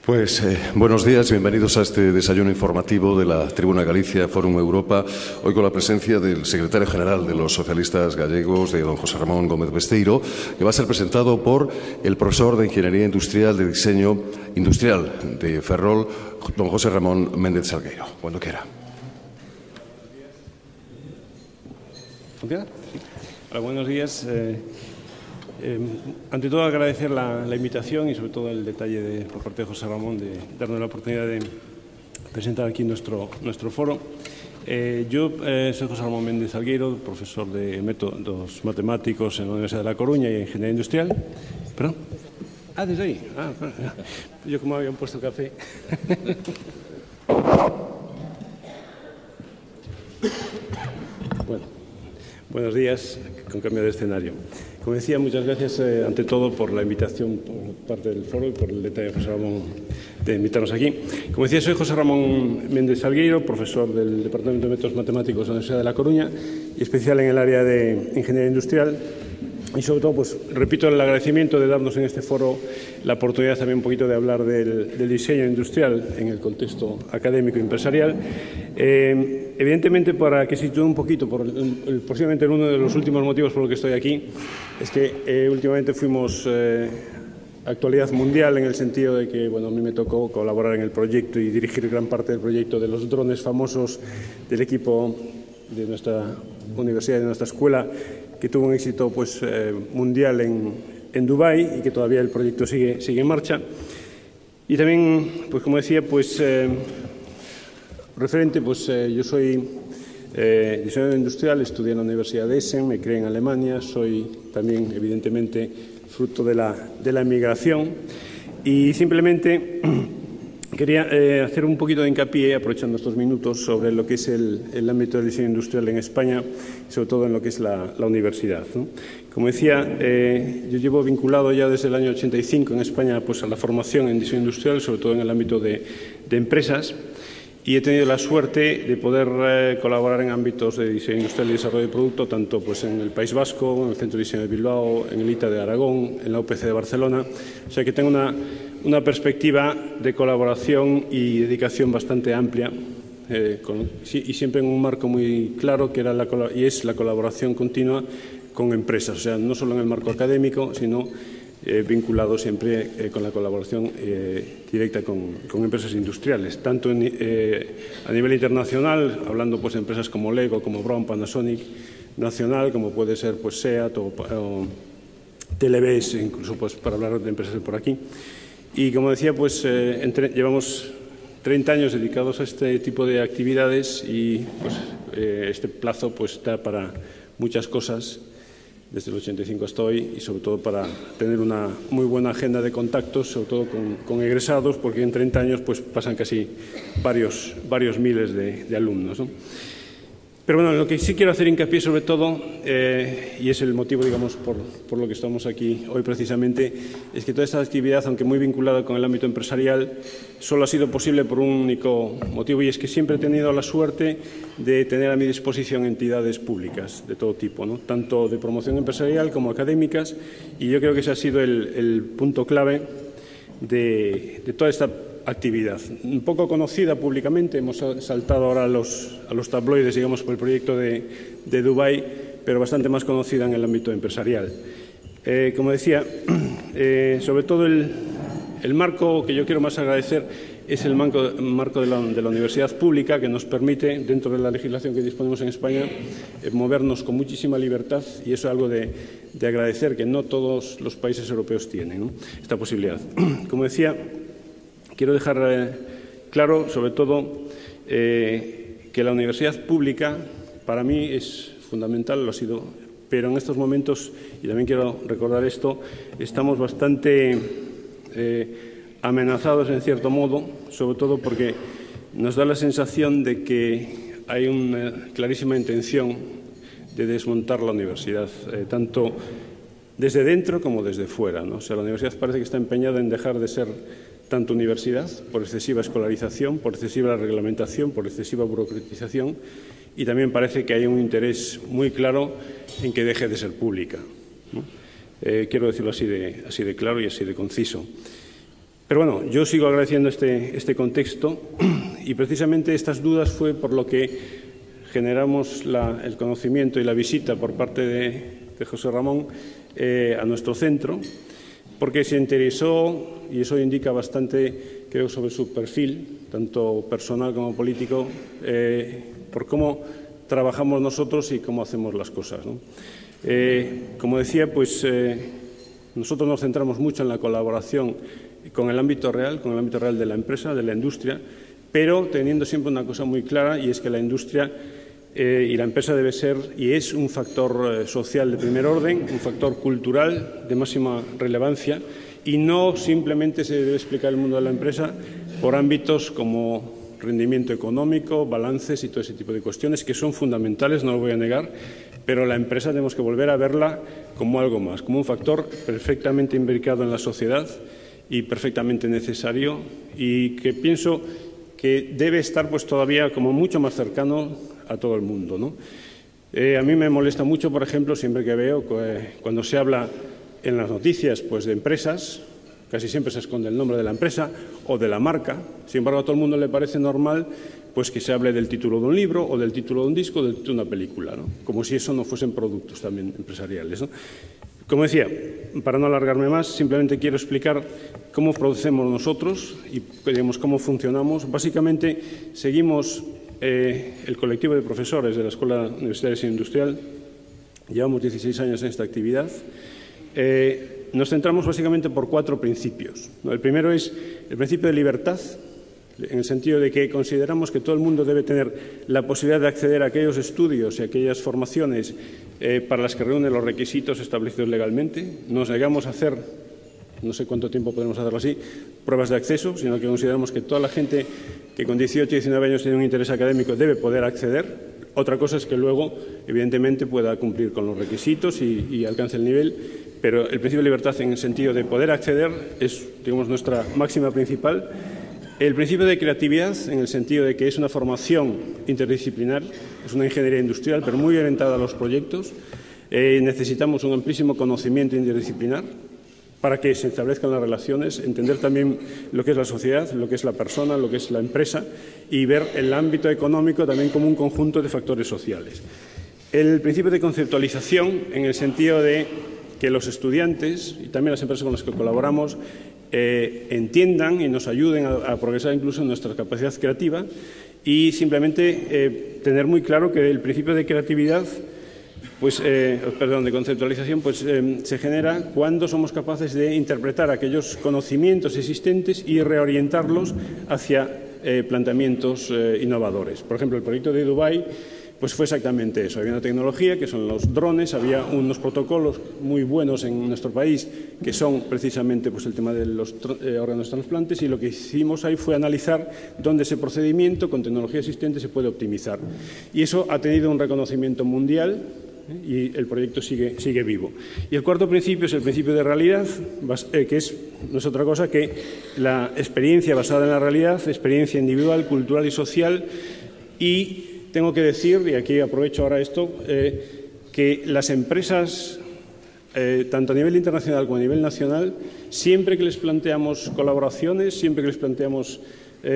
Pues buenos días, bienvenidos a este desayuno informativo de la Tribuna Galicia Fórum Europa, hoy con la presencia del secretario general de los socialistas gallegos, de don José Ramón Gómez Besteiro, que va a ser presentado por el profesor de Ingeniería Industrial de Diseño Industrial de Ferrol, don José Ramón Méndez Salgueiro. Cuando quiera. ¿Funciona? Sí. Hola, buenos días. Ante todo, agradecer la invitación y sobre todo el detalle por parte de José Ramón de darnos la oportunidad de presentar aquí nuestro foro. Yo soy José Ramón Méndez Salgueiro, profesor de métodos matemáticos en la Universidad de La Coruña y Ingeniería Industrial. ¿Perdón? Ah, desde ahí. Ah, yo como habían puesto café. Bueno, buenos días, con cambio de escenario. Como decía, muchas gracias ante todo por la invitación por parte del foro y por el detalle de José Ramón de invitarnos aquí. Como decía, soy José Ramón Méndez Salgueiro, profesor del Departamento de Métodos Matemáticos de la Universidad de La Coruña y especial en el área de Ingeniería Industrial. Y sobre todo, pues repito el agradecimiento de darnos en este foro la oportunidad también un poquito de hablar del diseño industrial en el contexto académico y empresarial. Evidentemente, para que sitúe un poquito, posiblemente uno de los últimos motivos por los que estoy aquí, es que últimamente fuimos actualidad mundial en el sentido de que, bueno, a mí me tocó colaborar en el proyecto y dirigir gran parte del proyecto de los drones famosos del equipo de nuestra universidad, de nuestra escuela, que tuvo un éxito pues, mundial en Dubái y que todavía el proyecto sigue en marcha. Y también, pues como decía, pues referente, pues yo soy diseñador industrial, estudié en la Universidad de Essen, me crié en Alemania, soy también evidentemente fruto de la emigración y simplemente quería hacer un poquito de hincapié, aprovechando estos minutos, sobre lo que es el ámbito del diseño industrial en España y sobre todo en lo que es la universidad, ¿no? Como decía, yo llevo vinculado ya desde el año 85 en España pues, a la formación en diseño industrial, sobre todo en el ámbito de empresas, y he tenido la suerte de poder colaborar en ámbitos de diseño industrial y desarrollo de producto, tanto pues, en el País Vasco, en el Centro de Diseño de Bilbao, en el ITA de Aragón, en la UPC de Barcelona. O sea que tengo una perspectiva de colaboración y dedicación bastante amplia y siempre en un marco muy claro que es la colaboración continua con empresas, o sea, no solo en el marco académico, sino vinculado siempre con la colaboración directa con empresas industriales, tanto a nivel internacional, hablando pues de empresas como Lego, como Brown, Panasonic, nacional, como puede ser pues SEAT o Televes, incluso pues para hablar de empresas por aquí. Y como decía, pues llevamos 30 años dedicados a este tipo de actividades y pues, este plazo pues, da para muchas cosas, desde el 85 hasta hoy, y sobre todo para tener una muy buena agenda de contactos, sobre todo con egresados, porque en 30 años pues, pasan casi varios miles de alumnos, ¿no? Pero bueno, lo que sí quiero hacer hincapié sobre todo, y es el motivo, digamos, por lo que estamos aquí hoy precisamente, es que toda esta actividad, aunque muy vinculada con el ámbito empresarial, solo ha sido posible por un único motivo, y es que siempre he tenido la suerte de tener a mi disposición entidades públicas de todo tipo, ¿no? Tanto de promoción empresarial como académicas, y yo creo que ese ha sido el punto clave de toda esta actividad. Un poco conocida públicamente, hemos saltado ahora a los tabloides, digamos, por el proyecto de Dubái, pero bastante más conocida en el ámbito empresarial. Como decía, sobre todo el marco que yo quiero más agradecer es el marco de la universidad pública, que nos permite, dentro de la legislación que disponemos en España, movernos con muchísima libertad, y eso es algo de agradecer, que no todos los países europeos tienen, ¿no?, esta posibilidad. Como decía, quiero dejar claro, sobre todo, que la universidad pública para mí es fundamental, lo ha sido, pero en estos momentos, y también quiero recordar esto, estamos bastante amenazados en cierto modo, sobre todo porque nos da la sensación de que hay una clarísima intención de desmontar la universidad, tanto desde dentro como desde fuera, ¿no? O sea, la universidad parece que está empeñada en dejar de ser tanto universidad, por excesiva escolarización, por excesiva reglamentación, por excesiva burocratización, y también parece que hay un interés muy claro en que deje de ser pública, ¿no? Quiero decirlo así de claro y así de conciso. Pero bueno, yo sigo agradeciendo este contexto y precisamente estas dudas fue por lo que generamos el conocimiento y la visita por parte de José Ramón a nuestro centro, porque se interesó, y eso indica bastante, creo, sobre su perfil, tanto personal como político, por cómo trabajamos nosotros y cómo hacemos las cosas, ¿no? Como decía, pues nosotros nos centramos mucho en la colaboración con el ámbito real de la empresa, de la industria, pero teniendo siempre una cosa muy clara, y es que la industria y la empresa debe ser y es un factor social de primer orden, un factor cultural de máxima relevancia, y no simplemente se debe explicar el mundo de la empresa por ámbitos como rendimiento económico, balances y todo ese tipo de cuestiones que son fundamentales, no lo voy a negar, pero la empresa tenemos que volver a verla como algo más, como un factor perfectamente imbricado en la sociedad y perfectamente necesario, y que pienso que debe estar pues todavía como mucho más cercano a todo el mundo, ¿no? A mí me molesta mucho, por ejemplo, siempre que veo cuando se habla en las noticias pues de empresas, casi siempre se esconde el nombre de la empresa o de la marca. Sin embargo, a todo el mundo le parece normal pues que se hable del título de un libro o del título de un disco o de una película, ¿no? Como si eso no fuesen productos también empresariales, ¿no? Como decía, para no alargarme más, simplemente quiero explicar cómo procedemos nosotros y digamos, cómo funcionamos. Básicamente, seguimos el colectivo de profesores de la Escuela Universitaria Industrial. Llevamos 16 años en esta actividad. Nos centramos básicamente por 4 principios, ¿no? El primero es el principio de libertad, en el sentido de que consideramos que todo el mundo debe tener la posibilidad de acceder a aquellos estudios y aquellas formaciones para las que reúnen los requisitos establecidos legalmente. Nos negamos a hacer, no sé cuánto tiempo podemos hacerlo así, pruebas de acceso, sino que consideramos que toda la gente que con 18 y 19 años tiene un interés académico debe poder acceder. Otra cosa es que luego, evidentemente, pueda cumplir con los requisitos y alcance el nivel, pero el principio de libertad en el sentido de poder acceder es, digamos, nuestra máxima principal. El principio de creatividad en el sentido de que es una formación interdisciplinar, es una ingeniería industrial, pero muy orientada a los proyectos. Necesitamos un amplísimo conocimiento interdisciplinar para que se establezcan las relaciones, entender también lo que es la sociedad, lo que es la persona, lo que es la empresa y ver el ámbito económico también como un conjunto de factores sociales. El principio de conceptualización en el sentido de que los estudiantes y también las empresas con las que colaboramos entiendan y nos ayuden a progresar incluso en nuestra capacidad creativa y simplemente tener muy claro que el principio de creatividad, pues, de conceptualización, pues se genera cuando somos capaces de interpretar aquellos conocimientos existentes y reorientarlos hacia planteamientos innovadores. Por ejemplo, el proyecto de Dubái pues fue exactamente eso. Había una tecnología que son los drones, había unos protocolos muy buenos en nuestro país que son precisamente pues, el tema de los órganos trasplantes, y lo que hicimos ahí fue analizar dónde ese procedimiento con tecnología existente se puede optimizar. Y eso ha tenido un reconocimiento mundial y el proyecto sigue vivo. Y el cuarto principio es el principio de realidad, que no es otra cosa que la experiencia basada en la realidad, experiencia individual, cultural y social. Y tengo que decir, y aquí aprovecho ahora esto, que las empresas, tanto a nivel internacional como a nivel nacional, siempre que les planteamos colaboraciones, siempre que les planteamos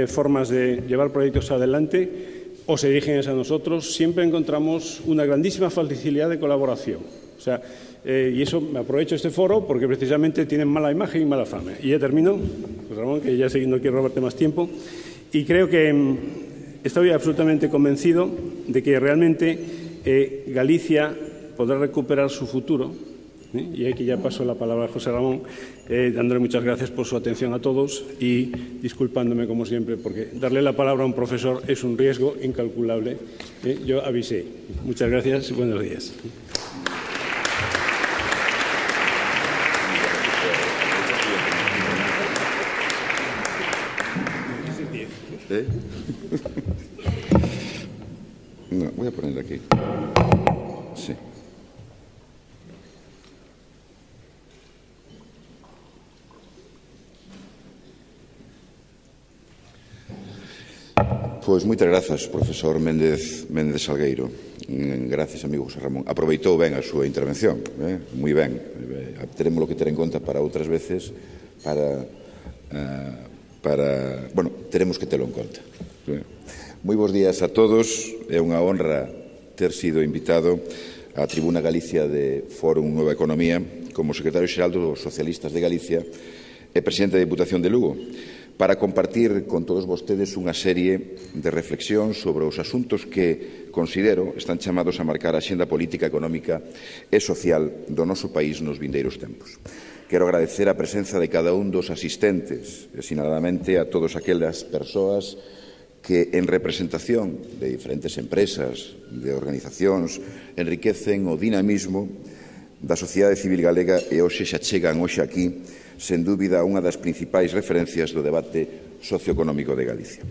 formas de llevar proyectos adelante, o se dirigen a nosotros, siempre encontramos una grandísima facilidad de colaboración. O sea, y eso me aprovecho este foro porque precisamente tienen mala imagen y mala fama. Y ya termino, pues Ramón, que ya no quiero robarte más tiempo, y creo que estoy absolutamente convencido de que realmente Galicia podrá recuperar su futuro. Y aquí ya paso la palabra a José Ramón, dándole muchas gracias por su atención a todos y disculpándome como siempre, porque darle la palabra a un profesor es un riesgo incalculable. Yo avisé. Muchas gracias y buenos días. No, voy a poner aquí. Sí. Pois moitas grazas, profesor Méndez Salgueiro. Gracias, amigo José Ramón. Aproveitou ben a súa intervención, moi ben. Teremos que ter en conta para outras veces para teremos que telo en conta. Moi bons días a todos. É unha honra ter sido invitado á Tribuna Galicia de Fórum Nueva Economía como secretario xeral dos Socialistas de Galicia e presidente da Diputación de Lugo para compartir con todos vostedes unha serie de reflexións sobre os asuntos que considero están chamados a marcar a xenda política, económica e social do noso país nos vindeiros tempos. Quero agradecer a presenza de cada un dos asistentes e, sinaladamente, a todas aquelas persoas que, en representación de diferentes empresas, de organizacións, enriquecen o dinamismo da sociedade civil galega e hoxe xa chegan hoxe aquí, sen dúbida, unha das principais referencias do debate socioeconómico de Galicia.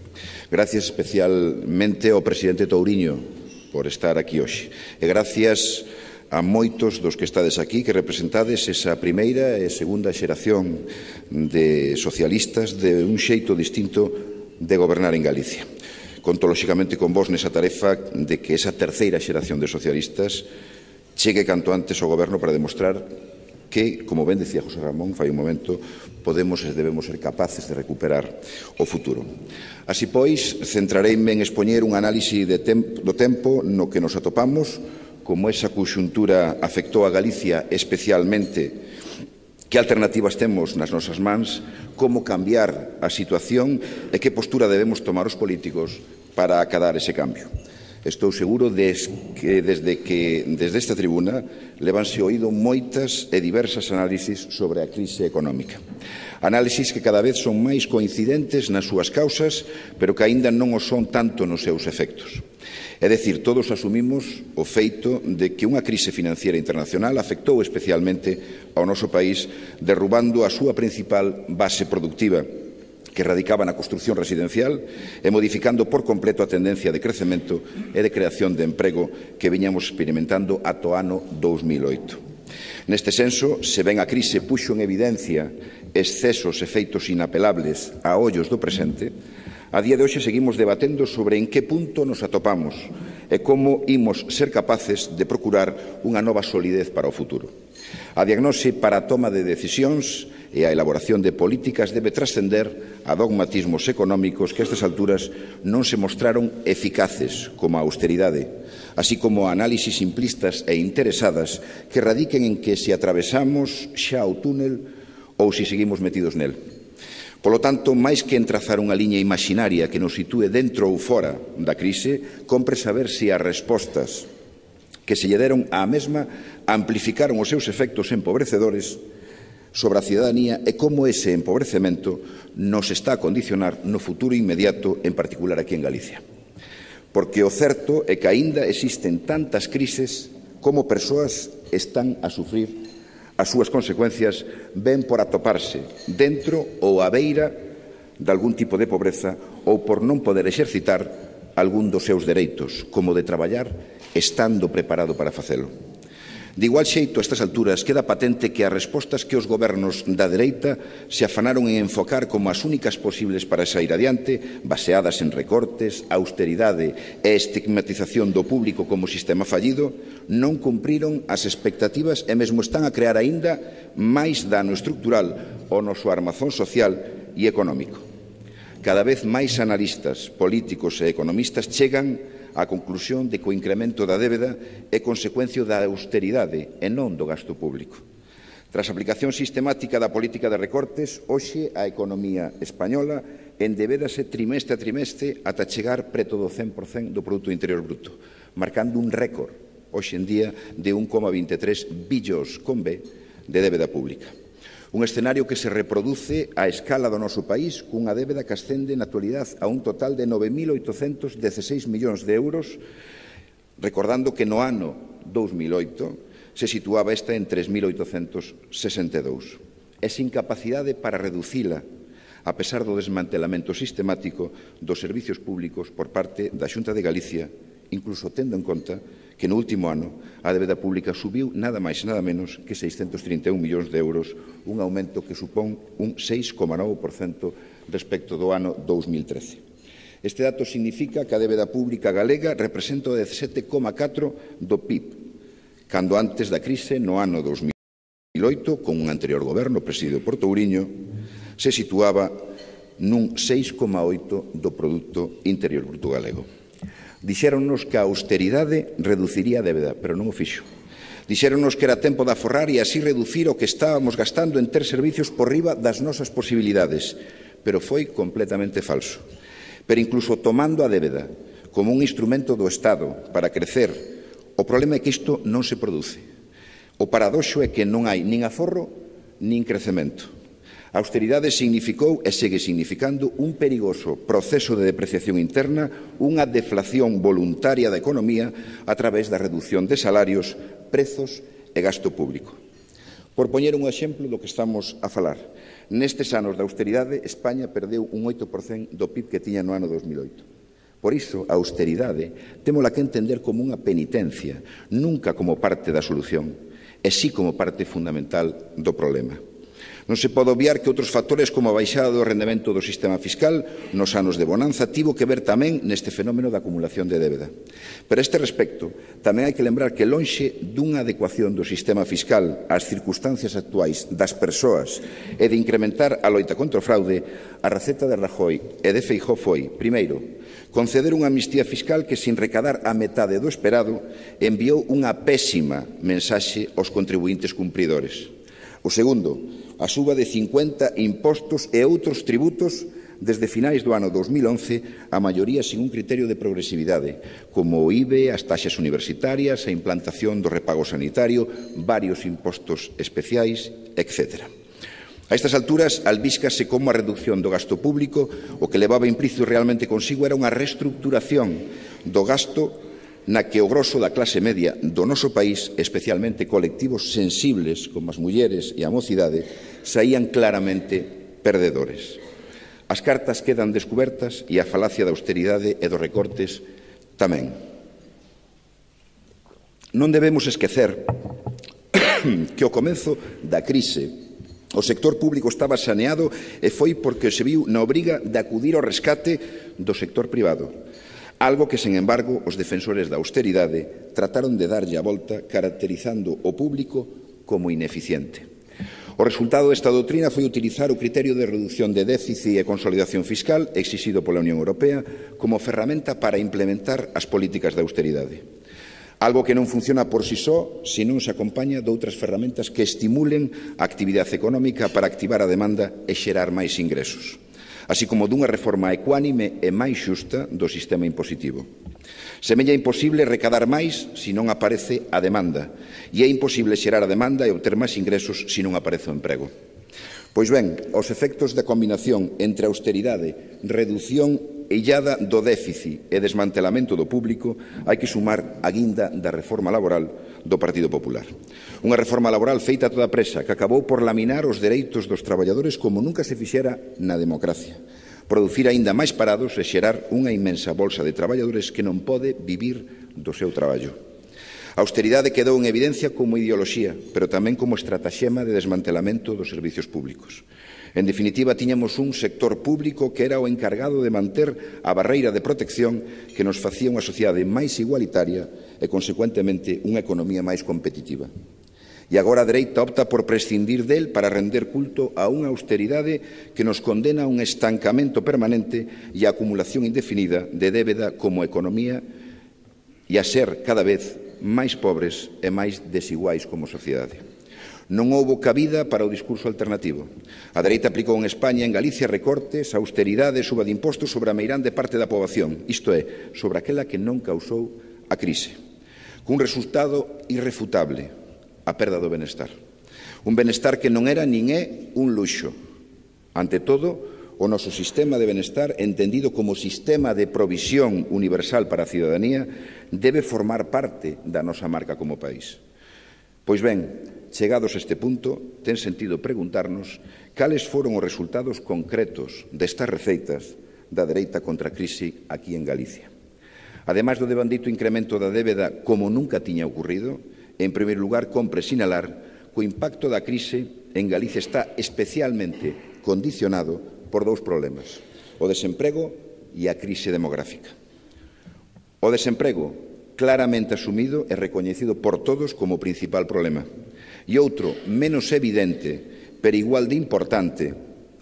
Gracias especialmente ao presidente Touriño por estar aquí hoxe. E gracias a moitos dos que estades aquí, que representades esa primeira e segunda xeración de socialistas de un xeito distinto de gobernar en Galicia. Conto, lóxicamente, con vos nesa tarefa de que esa terceira xeración de socialistas chegue canto antes ao goberno para demostrar que, como ben decía José Ramón fai un momento, podemos e debemos ser capaces de recuperar o futuro. Así pois, centrareime en expoñer un análise do tempo no que nos atopamos, como esa conxuntura afectou a Galicia especialmente, que alternativas temos nas nosas mans, como cambiar a situación e que postura debemos tomar os políticos para acadar ese cambio. Estou seguro que desde esta tribuna levanse oído moitas e diversas análisis sobre a crise económica. Análisis que cada vez son máis coincidentes nas súas causas, pero que aínda non o son tanto nos seus efectos. É dicir, todos asumimos o feito de que unha crise financiera internacional afectou especialmente ao noso país, derrubando a súa principal base productiva, que radicaba na construción residencial e modificando por completo a tendencia de crecemento e de creación de emprego que viñamos experimentando ata o ano 2008. Neste senso, se ben a crise puxo en evidencia excesos e feitos inapelables a ollos do presente, a día de hoxe seguimos debatendo sobre en que punto nos atopamos e como imos ser capaces de procurar unha nova solidez para o futuro. A diagnose para a toma de decisións e a elaboración de políticas debe trascender a dogmatismos económicos que a estas alturas non se mostraron eficaces, como a austeridade, así como a análisis simplistas e interesadas que radiquen en que se atravesamos xa o túnel ou se seguimos metidos nel. Polo tanto, máis que entrazar unha liña imaginaria que nos sitúe dentro ou fora da crise, compre saber se as respostas que se lle deron á mesma amplificaron os seus efectos empobrecedores sobre a cidadanía e como ese empobrecemento nos está a condicionar no futuro inmediato, en particular aquí en Galicia. Porque o certo é que aínda existen tantas crises como persoas están a sufrir as súas consecuencias, ben por atoparse dentro ou á beira de algún tipo de pobreza ou por non poder exercitar algún dos seus dereitos, como de traballar estando preparado para facelo. De igual xeito, a estas alturas, queda patente que as respostas que os gobernos da dereita se afanaron en enfocar como as únicas posibles para sair adiante, baseadas en recortes, austeridade e estigmatización do público como sistema fallido, non cumpriron as expectativas e mesmo están a crear aínda máis dano estructural ao noso armazón social e económico. Cada vez máis analistas, políticos e economistas chegan á conclusión de que o incremento da débeda é consecuencia da austeridade e non do gasto público. Tras a aplicación sistemática da política de recortes, hoxe a economía española endebédase trimestre a trimestre ata chegar preto do 100% do Produto Interior Bruto, marcando un récord, hoxe en día, de 1,23 billóns con B de débeda pública. Un escenario que se reproduce á escala do noso país cunha débeda que ascende na actualidade a un total de 9.816 millóns de euros, recordando que no ano 2008 se situaba esta en 3.862. E sin capacidade para reducila, a pesar do desmantelamento sistemático dos servizos públicos por parte da Xunta de Galicia, incluso tendo en conta que no último ano a débeda pública subiu nada máis e nada menos que 631 millóns de euros, un aumento que supón un 6,9% respecto do ano 2013. Este dato significa que a débeda pública galega representa o 17,4% do PIB, cando antes da crise, no ano 2008, con un anterior goberno presidido por Touriño, se situaba nun 6,8 do Produto Interior Bruto galego. Dixéronnos que a austeridade reduciría a débeda, pero non o fixo. Dixéronnos que era tempo de aforrar e así reducir o que estábamos gastando en ter servicios por riba das nosas posibilidades, pero foi completamente falso. Pero incluso tomando a débeda como un instrumento do Estado para crecer, o problema é que isto non se produce. O paradoxo é que non hai nin aforro nin crecemento. A austeridade significou e segue significando un perigoso proceso de depreciación interna, unha deflación voluntaria da economía a través da reducción de salarios, prezos e gasto público. Por poñer un exemplo do que estamos a falar, nestes anos de austeridade, España perdeu un 8% do PIB que tiña no ano 2008. Por iso, a austeridade témola que entender como unha penitencia, nunca como parte da solución, e sí como parte fundamental do problema. Non se pode obviar que outros factores como a baixada do rendemento do sistema fiscal nos anos de bonanza tivo que ver tamén neste fenómeno da acumulación de débeda. Pero a este respecto, tamén hai que lembrar que lonxe dunha adecuación do sistema fiscal ás circunstancias actuais das persoas e de incrementar a loita contra o fraude, a receta de Rajoy e de Feijóo foi, primeiro, conceder unha amnistía fiscal que, sin recadar a metade do esperado, enviou unha pésima mensaxe aos contribuintes cumpridores. O segundo, a suba de 50 impostos e outros tributos desde finais do ano 2011, a maioría sin un criterio de progresividade, como o IBE, as taxas universitarias, a implantación do repago sanitario, varios impostos especiais, etc. A estas alturas, albíscase como a reducción do gasto público, o que levaba implícito realmente consigo era unha reestructuración do gasto na que o groso da clase media do noso país, especialmente colectivos sensibles como as mulleres e a mocidade, saían claramente perdedores. As cartas quedan descubertas e a falacia da austeridade e dos recortes tamén. Non debemos esquecer que ao comezo da crise o sector público estaba saneado e foi porque se viu na obriga de acudir ao rescate do sector privado. Algo que, sen embargo, os defensores da austeridade trataron de darlle a volta caracterizando o público como ineficiente. O resultado desta doutrina foi utilizar o criterio de reducción de déficit e consolidación fiscal exixido pola Unión Europea como ferramenta para implementar as políticas de austeridade. Algo que non funciona por si só se non se acompaña de outras ferramentas que estimulen a actividade económica para activar a demanda e xerar máis ingresos, así como dunha reforma ecuánime e máis xusta do sistema impositivo. Semella imposible recadar máis se non aparece a demanda, e é imposible xerar a demanda e obter máis ingresos se non aparece o emprego. Pois ben, aos efectos da combinación entre austeridade, redución illada do déficit e desmantelamento do público, hai que sumar a guinda da reforma laboral do Partido Popular. Unha reforma laboral feita a toda presa que acabou por laminar os dereitos dos traballadores como nunca se fixera na democracia, producir aínda máis parados e xerar unha inmensa bolsa de traballadores que non pode vivir do seu traballo. A austeridade quedou en evidencia como ideoloxía, pero tamén como estratagema de desmantelamento dos servicios públicos. En definitiva, tiñamos un sector público que era o encargado de manter a barreira de protección que nos facía unha sociedade máis igualitaria e, consecuentemente, unha economía máis competitiva. E agora a dereita opta por prescindir del para render culto a unha austeridade que nos condena a un estancamento permanente e a acumulación indefinida de débeda como economía e a ser cada vez máis pobres e máis desiguais como sociedade. Non houbo cabida para o discurso alternativo. A dereita aplicou en España e en Galicia recortes, austeridade e suba de impostos sobre a meirande parte da poboación, isto é, sobre aquela que non causou a crise, cun resultado irrefutable, a perda do benestar. Un benestar que non era nin é un luxo. Ante todo, o noso sistema de benestar, entendido como sistema de provisión universal para a cidadanía, debe formar parte da nosa marca como país. Pois ben, chegados a este punto, ten sentido preguntarnos cales foron os resultados concretos destas receitas da dereita contra a crise aquí en Galicia. Ademais do devandito incremento da débeda como nunca tiña ocurrido, en primeiro lugar, compre sinalar que o impacto da crise en Galicia está especialmente condicionado por dous problemas, o desemprego e a crise demográfica. O desemprego, claramente asumido e recoñecido por todos como o principal problema. E outro, menos evidente, pero igual de importante,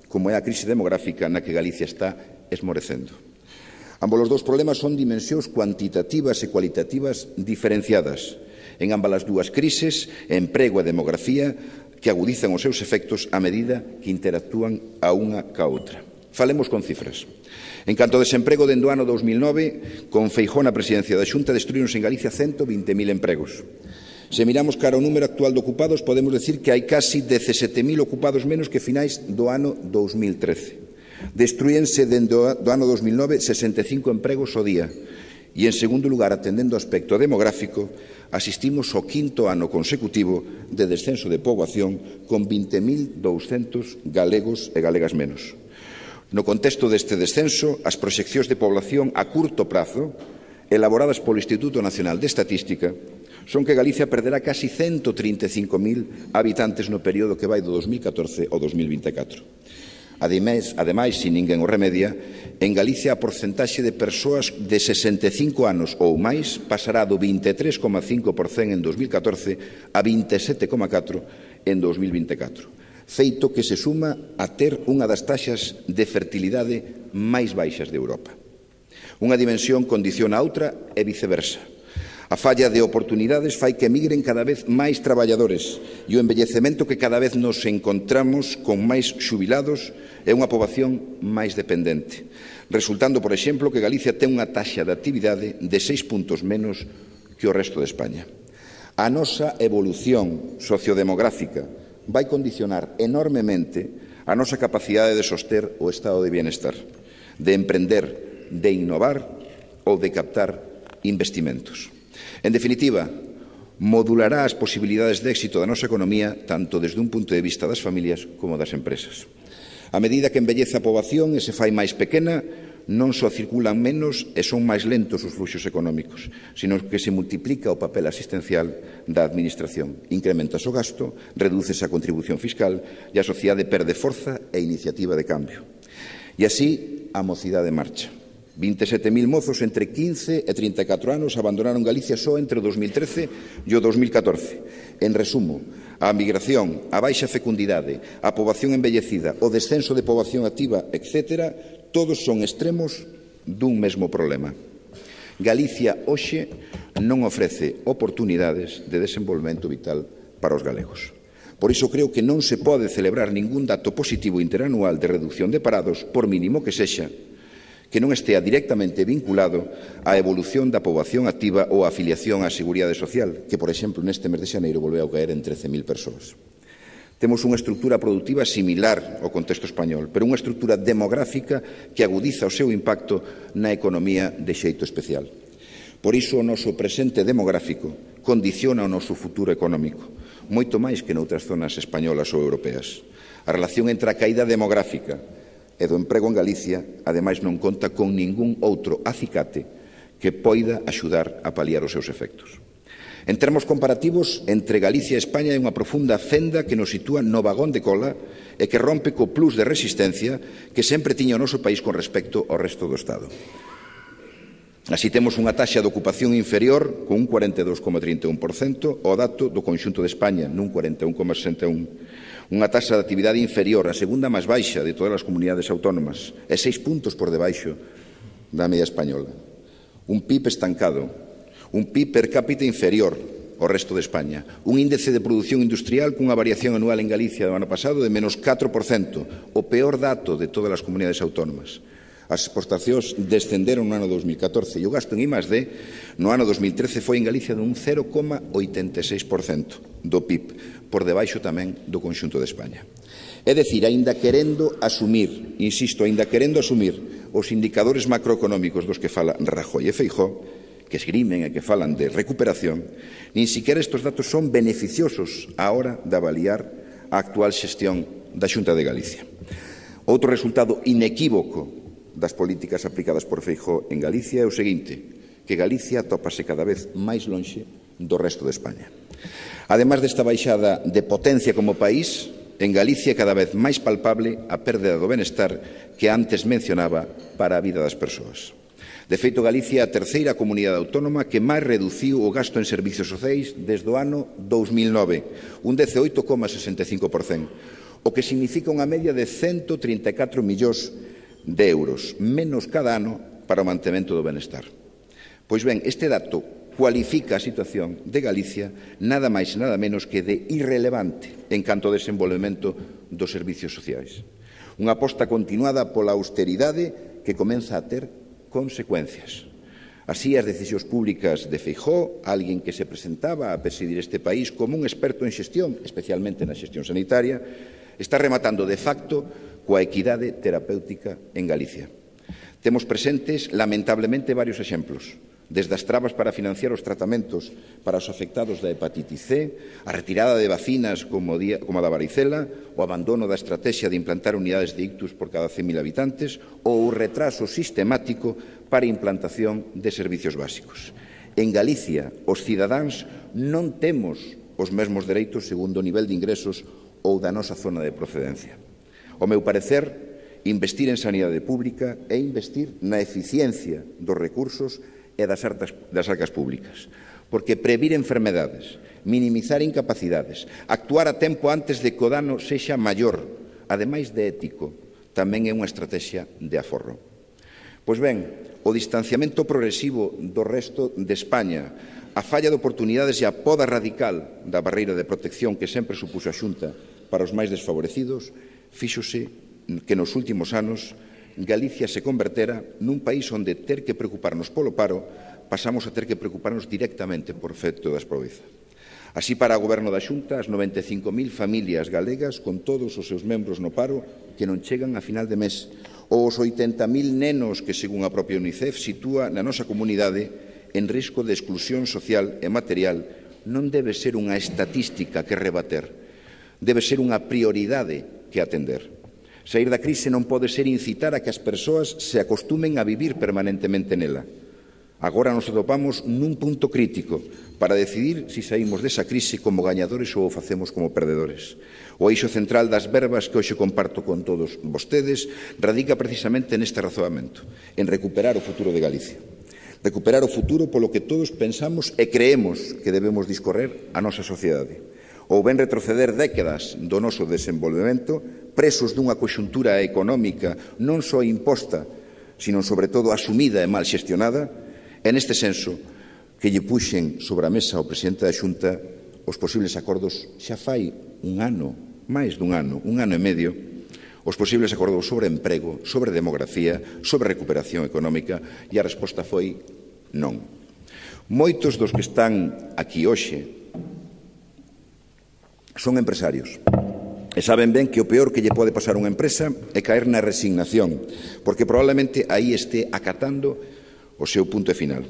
como é a crise demográfica na que Galicia está esmorecendo. Ambos os dous problemas son dimensións cuantitativas e cualitativas diferenciadas. En ambas as dúas crises, emprego e demografía que agudizan os seus efectos a medida que interactúan a unha ca outra. Falemos con cifras. En canto ao desemprego, dende o ano 2009, con Feijóo na presidencia da Xunta, destruíronse en Galicia 120.000 empregos. Se miramos cara ao número actual de ocupados, podemos decir que hai casi 17.000 ocupados menos que finais do ano 2013. Destruíense dende o ano 2009 65 empregos ao día. E, en segundo lugar, atendendo ao aspecto demográfico, asistimos ao quinto ano consecutivo de descenso de poboación con 20.200 galegos e galegas menos. No contexto deste descenso, as proxeccións de población a curto prazo, elaboradas polo Instituto Nacional de Estatística, son que Galicia perderá casi 135.000 habitantes no período que vai do 2014 ao 2024. Ademais, se ninguén o remedia, en Galicia a porcentaxe de persoas de 65 anos ou máis pasará do 23,5% en 2014 a 27,4% en 2024. Feito que se suma a ter unha das taxas de fertilidade máis baixas de Europa. Unha dimensión condiciona a outra e viceversa. A falla de oportunidades fai que emigren cada vez máis traballadores e o envellecemento que cada vez nos encontramos con máis xubilados é unha poboación máis dependente, resultando, por exemplo, que Galicia ten unha taxa de actividade de 6 puntos menos que o resto de España. A nosa evolución sociodemográfica vai condicionar enormemente a nosa capacidade de soster o estado de bienestar, de emprender, de innovar ou de captar investimentos. En definitiva, modulará as posibilidades de éxito da nosa economía tanto desde un punto de vista das familias como das empresas. A medida que envellece a poboación e se fai máis pequena, non só circulan menos e son máis lentos os fluxos económicos, sino que se multiplica o papel asistencial da Administración. Incrementase o gasto, redúcese a contribución fiscal e a sociedade perde forza e iniciativa de cambio. E así, a mocidade marcha. 27.000 mozos entre 15 e 34 anos abandonaron Galicia só entre o 2013 e o 2014. En resumo, a migración, a baixa fecundidade, a poboación envellecida, o descenso de poboación activa, etc., todos son extremos dun mesmo problema. Galicia hoxe non ofrece oportunidades de desenvolvemento vital para os galegos. Por iso creo que non se pode celebrar ningún dato positivo interanual de reducción de parados, por mínimo que sexa, que non estea directamente vinculado á evolución da poboación activa ou á afiliación á Seguridade Social, que, por exemplo, neste mes de xaneiro volveu a caer en 13.000 persoas. Temos unha estrutura produtiva similar ao contexto español, pero unha estrutura demográfica que agudiza o seu impacto na economía de xeito especial. Por iso o noso presente demográfico condiciona o noso futuro económico, moito máis que noutras zonas españolas ou europeas. A relación entre a caída demográfica e do emprego en Galicia, ademais, non conta con ningún outro acicate que poida axudar a paliar os seus efectos. En termos comparativos, entre Galicia e España hai unha profunda fenda que nos sitúa no vagón de cola e que rompe co plus de resistencia que sempre tiña o noso país con respecto ao resto do Estado. Así temos unha taxa de ocupación inferior con un 42,31% ao dato do conxunto de España, nun 41,61%. Unha taxa de actividade inferior, a segunda máis baixa de todas as comunidades autónomas, e 6 puntos por debaixo da media española. Un PIB estancado, un PIB per cápita inferior ao resto de España, un índice de produción industrial cunha variación anual en Galicia do ano pasado de menos 4%, o peor dato de todas as comunidades autónomas. As exportacións descenderon no ano 2014 e o gasto en I+D no ano 2013 foi en Galicia dun 0,86% do PIB, por debaixo tamén do conxunto de España. É dicir, aínda querendo asumir, insisto, aínda querendo asumir os indicadores macroeconómicos dos que fala Rajoy e Feijóo, que esgrimen e que falan de recuperación, nin siquiera estes datos son beneficiosos á hora de avaliar a actual xestión da Xunta de Galicia. Outro resultado inequívoco das políticas aplicadas por Feijóo en Galicia é o seguinte, que Galicia tópase cada vez máis lonxe do resto de España. Ademais desta baixada de potencia como país, en Galicia é cada vez máis palpable a perda do benestar que antes mencionaba para a vida das persoas. De feito, Galicia é a terceira comunidade autónoma que máis reduciu o gasto en servicios sociais desde o ano 2009, un 18,65%, o que significa unha media de 134 millóns de euros, menos cada ano para o mantemento do benestar. Pois ben, este dato cualifica a situación de Galicia nada máis e nada menos que de irrelevante en canto ao desenvolvemento dos servicios sociais. Unha aposta continuada pola austeridade que comeza a ter consecuencias. Así, as decisións públicas de Feijóo, alguén que se presentaba a presidir este país como un experto en xestión, especialmente na xestión sanitaria, está rematando de facto coa equidade terapéutica en Galicia. Temos presentes, lamentablemente, varios exemplos, desde as trabas para financiar os tratamentos para os afectados da hepatitis C, a retirada de vacinas como a da varicela, o abandono da estrategia de implantar unidades de ictus por cada 100.000 habitantes ou o retraso sistemático para a implantación de servicios básicos. En Galicia, os cidadáns non temos os mesmos dereitos segundo o nivel de ingresos ou da nosa zona de procedencia. Ao meu parecer, investir en sanidade pública é investir na eficiencia dos recursos e das arcas públicas, porque previr enfermedades, minimizar incapacidades, actuar a tempo antes de que o dano sexa maior, ademais de ético, tamén é unha estrategia de aforro. Pois ben, o distanciamento progresivo do resto de España, a falla de oportunidades e a poda radical da barreira de protección que sempre supuxo a Xunta para os máis desfavorecidos, fíxose que nos últimos anos Galicia se convertera nun país onde ter que preocuparnos polo paro pasamos a ter que preocuparnos directamente por efecto da pobreza. Así, para o Goberno da Xunta, as 95.000 familias galegas con todos os seus membros no paro que non chegan a final de mes, ou os 80.000 nenos que, según a propia UNICEF, sitúa na nosa comunidade en risco de exclusión social e material, non debe ser unha estatística que rebater, debe ser unha prioridade que atender. Saír da crise non pode ser incitar a que as persoas se acostumen a vivir permanentemente nela. Agora nos atopamos nun punto crítico para decidir se saímos desa crise como gañadores ou o facemos como perdedores. O eixo central das verbas que hoxe comparto con todos vostedes radica precisamente neste razoamento, en recuperar o futuro de Galicia. Recuperar o futuro polo que todos pensamos e creemos que debemos discorrer a nosa sociedade. Ou ben retroceder décadas do noso desenvolvemento presos dunha conxuntura económica non só imposta, sino sobre todo asumida e mal xestionada, e neste senso que lle puxen sobre a mesa ao presidente da Xunta os posibles acordos xa fai un ano, máis dun ano, un ano e medio, os posibles acordos sobre emprego, sobre demografía, sobre recuperación económica, e a resposta foi non. Moitos dos que están aquí hoxe son empresarios e saben ben que o peor que lle pode pasar a unha empresa é caer na resignación, porque probablemente aí este acatando o seu punto final.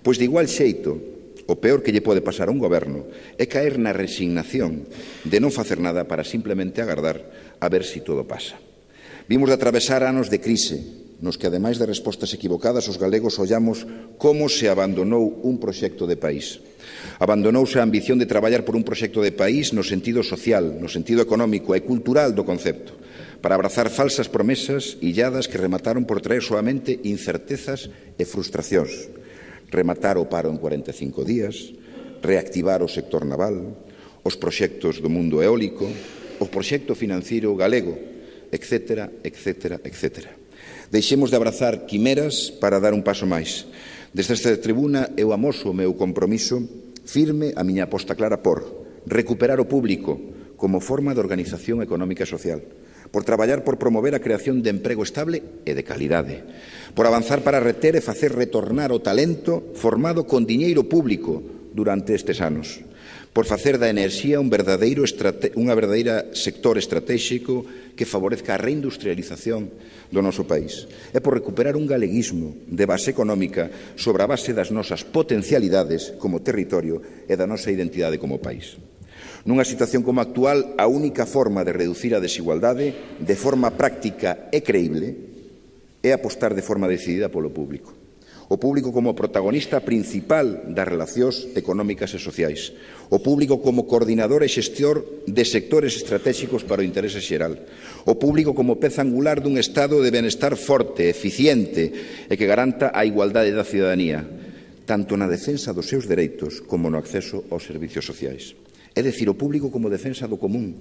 Pois de igual xeito, o peor que lle pode pasar a un goberno é caer na resignación de non facer nada para simplemente agardar a ver se todo pasa. Vimos de atravesar anos de crise, nos que, ademais de respostas equivocadas, os galegos ollamos como se abandonou un proxecto de país. Abandonouse a ambición de traballar por un proxecto de país no sentido social, no sentido económico e cultural do concepto, para abrazar falsas promesas illadas que remataron por traer soamente incertezas e frustracións. Rematar o paro en 45 días, reactivar o sector naval, os proxectos do mundo eólico, o proxecto financiero galego, etcétera, etcétera, etcétera. Deixemos de abrazar quimeras para dar un paso máis. Desde esta tribuna eu amoso o meu compromiso firme, a miña aposta clara por recuperar o público como forma de organización económica e social, por traballar por promover a creación de emprego estable e de calidade, por avanzar para reter e facer retornar o talento formado con diñeiro público durante estes anos, por facer da enerxía unha verdadeira sector estratégico que favorezca a reindustrialización do noso país, e por recuperar un galeguismo de base económica sobre a base das nosas potencialidades como territorio e da nosa identidade como país. Nunha situación como a actual, a única forma de reducir a desigualdade de forma práctica e creíble é apostar de forma decidida polo público. o público como protagonista principal das relacións económicas e sociais, o público como coordinador e xestor de sectores estratégicos para o interese xeral, o público como peza angular dun estado de benestar forte, eficiente e que garanta a igualdade da cidadanía, tanto na defensa dos seus dereitos como no acceso aos servicios sociais. É dicir, o público como defensa do común,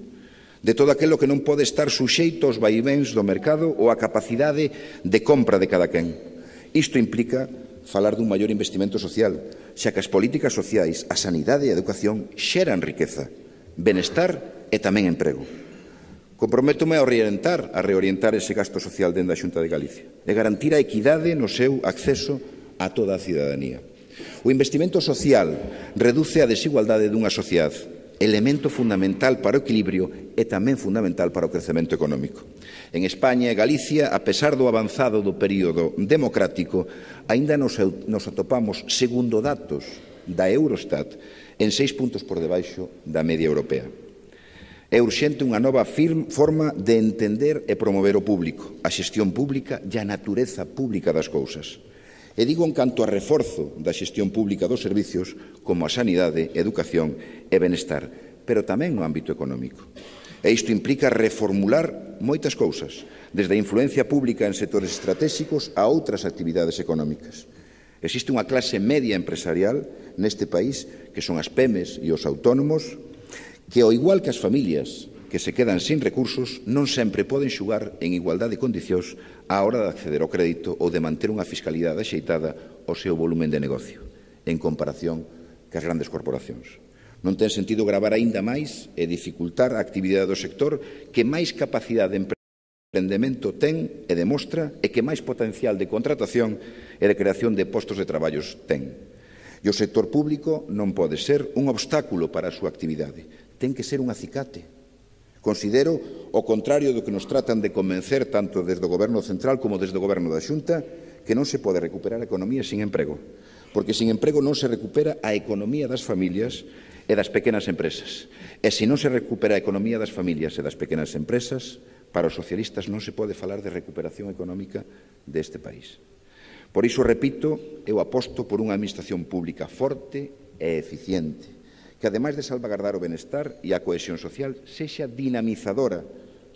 de todo aquilo que non pode estar suxeito aos vaivéns do mercado ou á capacidade de compra de cada quen. Isto implica falar dun maior investimento social, xa que as políticas sociais, a sanidade e a educación xeran riqueza, benestar e tamén emprego. Comprométome a reorientar ese gasto social dende a Xunta de Galicia e garantir a equidade no seu acceso a toda a cidadanía. O investimento social reduce a desigualdade dunha sociedade, elemento fundamental para o equilibrio e tamén fundamental para o crecemento económico. En España e Galicia, a pesar do avanzado do período democrático, aínda nos atopamos, segundo datos da Eurostat, en 6 puntos por debaixo da media europea. É urxente unha nova forma de entender e promover o público, a xestión pública e a natureza pública das cousas. E digo en canto a reforzo da xestión pública dos servicios como a sanidade, educación e benestar, pero tamén no ámbito económico. E isto implica reformular moitas cousas, desde a influencia pública en sectores estratégicos a outras actividades económicas. Existe unha clase media empresarial neste país, que son as PEMEs e os autónomos, que, ao igual que as familias que se quedan sin recursos, non sempre poden xugar en igualdade de condicións á hora de acceder ao crédito ou de manter unha fiscalidade axeitada ao seu volumen de negocio, en comparación cas grandes corporacións. Non ten sentido gravar aínda máis e dificultar a actividade do sector que máis capacidade de emprendemento ten e demostra e que máis potencial de contratación e de creación de postos de traballos ten. E o sector público non pode ser un obstáculo para a súa actividade, ten que ser un acicate. Considero, ao contrario do que nos tratan de convencer tanto desde o Goberno central como desde o Goberno da Xunta, que non se pode recuperar a economía sin emprego, porque sin emprego non se recupera a economía das familias e das pequenas empresas. E se non se recupera a economía das familias e das pequenas empresas, para os socialistas non se pode falar de recuperación económica deste país. Por iso, repito, eu aposto por unha administración pública forte e eficiente, que, ademais de salvagardar o benestar e a cohesión social, sexa dinamizadora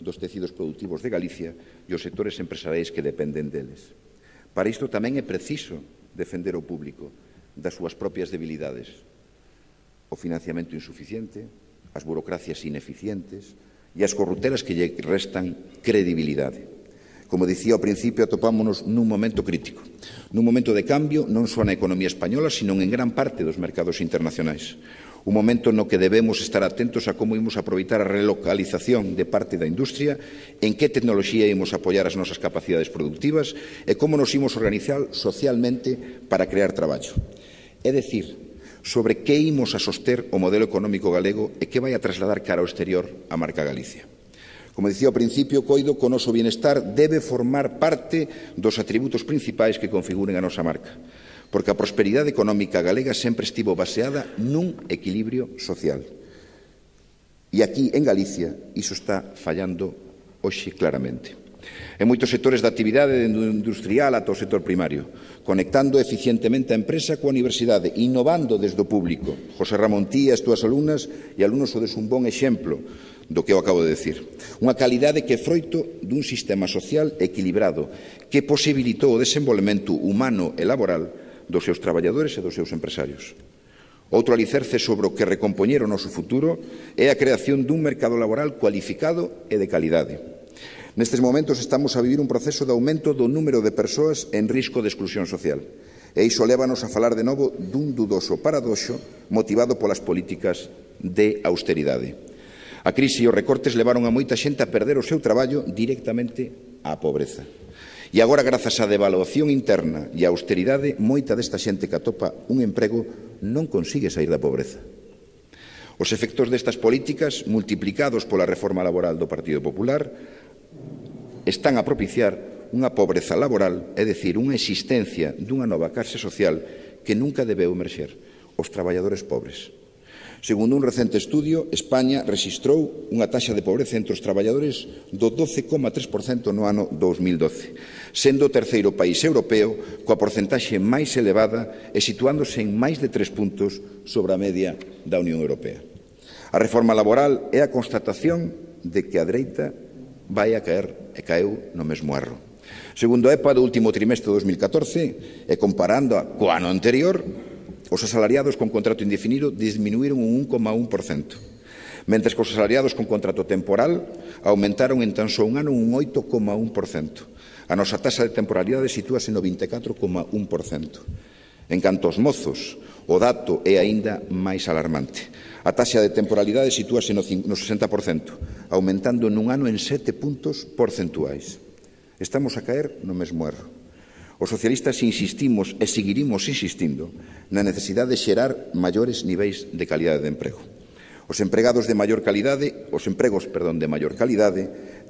dos tecidos productivos de Galicia e os sectores empresariais que dependen deles. Para isto tamén é preciso defender o público das súas propias debilidades, o financiamento insuficiente, as burocracias ineficientes e as corruptelas que lle restan credibilidade. Como dicía ao principio, atopámonos nun momento crítico, nun momento de cambio non só na economía española, sino en gran parte dos mercados internacionais. Un momento no que debemos estar atentos a como imos aproveitar a relocalización de parte da industria, en que tecnoloxía imos apoiar as nosas capacidades productivas e como nos imos organizar socialmente para crear traballo. É dicir, sobre que imos a soster o modelo económico galego e que vai a trasladar cara ao exterior a marca Galicia. Como dicía ao principio, coido que o noso bienestar debe formar parte dos atributos principais que configuren a nosa marca, porque a prosperidade económica galega sempre estivo baseada nun equilibrio social. E aquí, en Galicia, iso está fallando hoxe claramente. En moitos sectores da actividade industrial ata o sector primario, conectando eficientemente a empresa coa universidade, innovando desde o público. José Ramón Tí e as túas alumnas e alumnos sodes un bon exemplo do que eu acabo de decir. Unha calidade que é froito dun sistema social equilibrado que posibilitou o desenvolvemento humano e laboral dos seus traballadores e dos seus empresarios. Outro alicerce sobre o que recompoñer o noso futuro é a creación dun mercado laboral cualificado e de calidade. Nestes momentos estamos a vivir un proceso de aumento do número de persoas en risco de exclusión social. E iso lévanos a falar de novo dun dudoso paradoxo motivado polas políticas de austeridade. A crise e os recortes levaron a moita xente a perder o seu traballo directamente á pobreza. E agora, grazas á devaluación interna e á austeridade, moita desta xente que atopa un emprego non consigue sair da pobreza. Os efectos destas políticas, multiplicados pola reforma laboral do Partido Popular, están a propiciar unha pobreza laboral, é dicir, unha existencia dunha nova clase social que nunca debeu emerxer, os traballadores pobres. Segundo un recente estudio, España rexistrou unha taxa de pobreza entre os traballadores do 12,3% no ano 2012, sendo o terceiro país europeo coa porcentaxe máis elevada e situándose en máis de 3 puntos sobre a media da Unión Europea. A reforma laboral é a constatación de que a dereita vai a caer e caeu no mesmo erro. Segundo a EPA do último trimestre de 2014, e comparando co ano anterior, os asalariados con contrato indefinido disminuíron un 1,1%, mentres que os asalariados con contrato temporal aumentaron en tan só un ano un 8,1%. A nosa taxa de temporalidade sitúase no 24,1%. En canto aos mozos, o dato é aínda máis alarmante. A taxa de temporalidade sitúase no 60%, aumentando nun ano en 7 puntos porcentuais. Estamos a caer no mesmo erro. Os socialistas insistimos e seguiremos insistindo na necesidade de xerar maiores niveis de calidade de emprego. Os empregos de maior calidade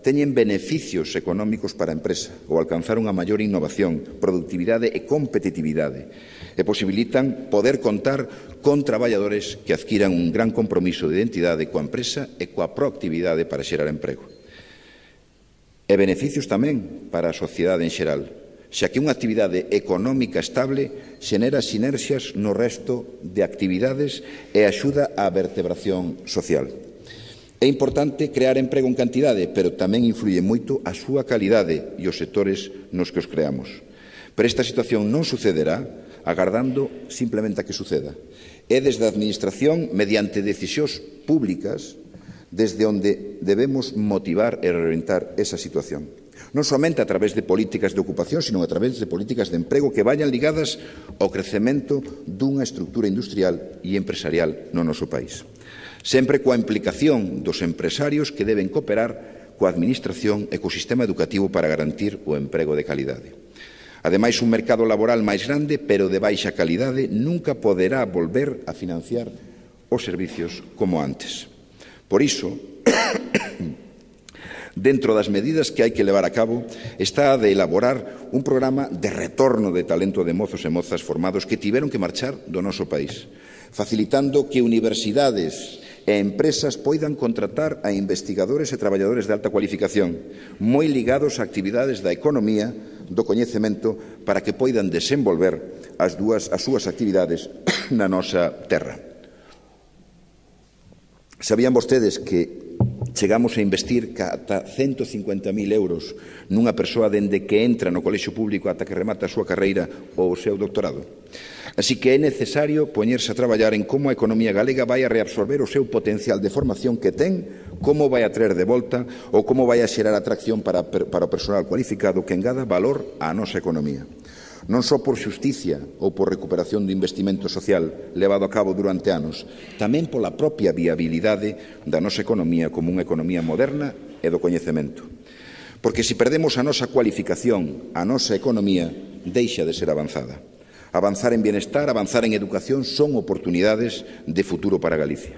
teñen beneficios económicos para a empresa ao alcanzar unha maior innovación, productividade e competitividade e posibilitan poder contar con traballadores que adquiran un gran compromiso de identidade coa empresa e coa proactividade para xerar emprego. E beneficios tamén para a sociedade en xeral, xa que unha actividade económica estable xenera sinerxias no resto de actividades e axuda á vertebración social. É importante crear emprego en cantidade, pero tamén influye moito a súa calidade e os sectores nos que os creamos. Pero esta situación non sucederá agardando simplemente a que suceda. É desde a Administración, mediante decisións públicas, desde onde debemos motivar e reorientar esa situación. Non somente a través de políticas de ocupación, sino a través de políticas de emprego que vayan ligadas ao crecemento dunha estrutura industrial e empresarial no noso país. Sempre coa implicación dos empresarios que deben cooperar coa Administración e co sistema educativo para garantir o emprego de calidade. Ademais, un mercado laboral máis grande, pero de baixa calidade, nunca poderá volver a financiar os servicios como antes. Por iso, dentro das medidas que hai que levar a cabo está a de elaborar un programa de retorno de talento de mozos e mozas formados que tiveron que marchar do noso país, facilitando que universidades e empresas poidan contratar a investigadores e traballadores de alta cualificación, moi ligados a actividades da economía, do coñecemento, para que poidan desenvolver as súas actividades na nosa terra. Sabían vostedes que chegamos a investir ata 150.000 euros nunha persoa dende que entra no colexio público ata que remata a súa carreira ou o seu doutorado? Así que é necesario poñerse a traballar en como a economía galega vai a reabsorber o seu potencial de formación que ten, como vai a traer de volta ou como vai a xerar atracción para o personal cualificado que engada valor á nosa economía. Non só por xusticia ou por recuperación do investimento social levado a cabo durante anos, tamén pola propia viabilidade da nosa economía como unha economía moderna e do coñecemento. Porque se perdemos a nosa cualificación, a nosa economía deixa de ser avanzada. Avanzar en bienestar, avanzar en educación son oportunidades de futuro para Galicia.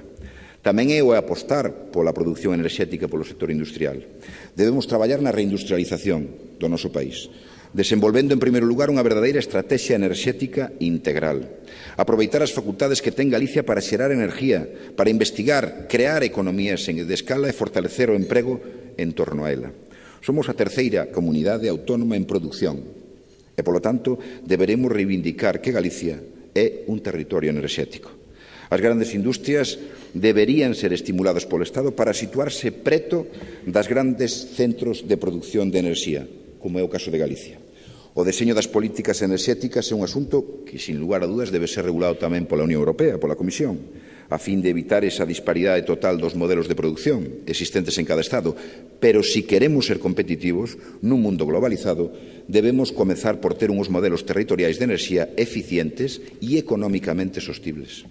Tamén é o apostar pola produción enerxética polo sector industrial. Debemos traballar na reindustrialización do noso país, desenvolvendo en primeiro lugar unha verdadeira estrategia enerxética integral. Aproveitar as facultades que ten Galicia para xerar enerxía, para investigar, crear economías de escala e fortalecer o emprego en torno a ela. Somos a terceira comunidade autónoma en produción e, polo tanto, deberemos reivindicar que Galicia é un territorio enerxético. As grandes industrias deberían ser estimuladas polo Estado para situarse preto das grandes centros de produción de enerxía, como é o caso de Galicia. O deseño das políticas enerxéticas é un asunto que, sin lugar a dúdas, debe ser regulado tamén pola Unión Europea, pola Comisión, a fin de evitar esa disparidade total dos modelos de produción existentes en cada Estado. Pero, se queremos ser competitivos nun mundo globalizado, debemos comezar por ter uns modelos territoriais de enerxía eficientes e económicamente sostibles.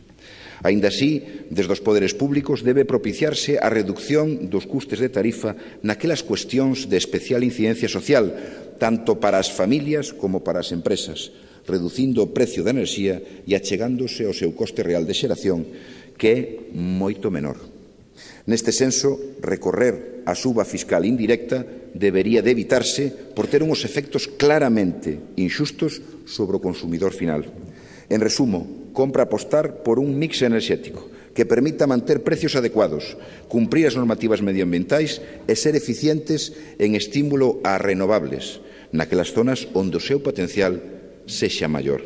Aínda así, desde os poderes públicos debe propiciarse a reducción dos custes de tarifa naquelas cuestións de especial incidencia social, tanto para as familias como para as empresas, reducindo o precio da enerxía e achegándose ao seu coste real de xeración, que é moito menor. Neste senso, recorrer a suba fiscal indirecta debería de evitarse por ter uns efectos claramente inxustos sobre o consumidor final. En resumo, compra apostar por un mix enerxético, que permita manter precios adecuados, cumprir as normativas medioambientais e ser eficientes en estímulo ás renovables, naquelas zonas onde o seu potencial sexa maior.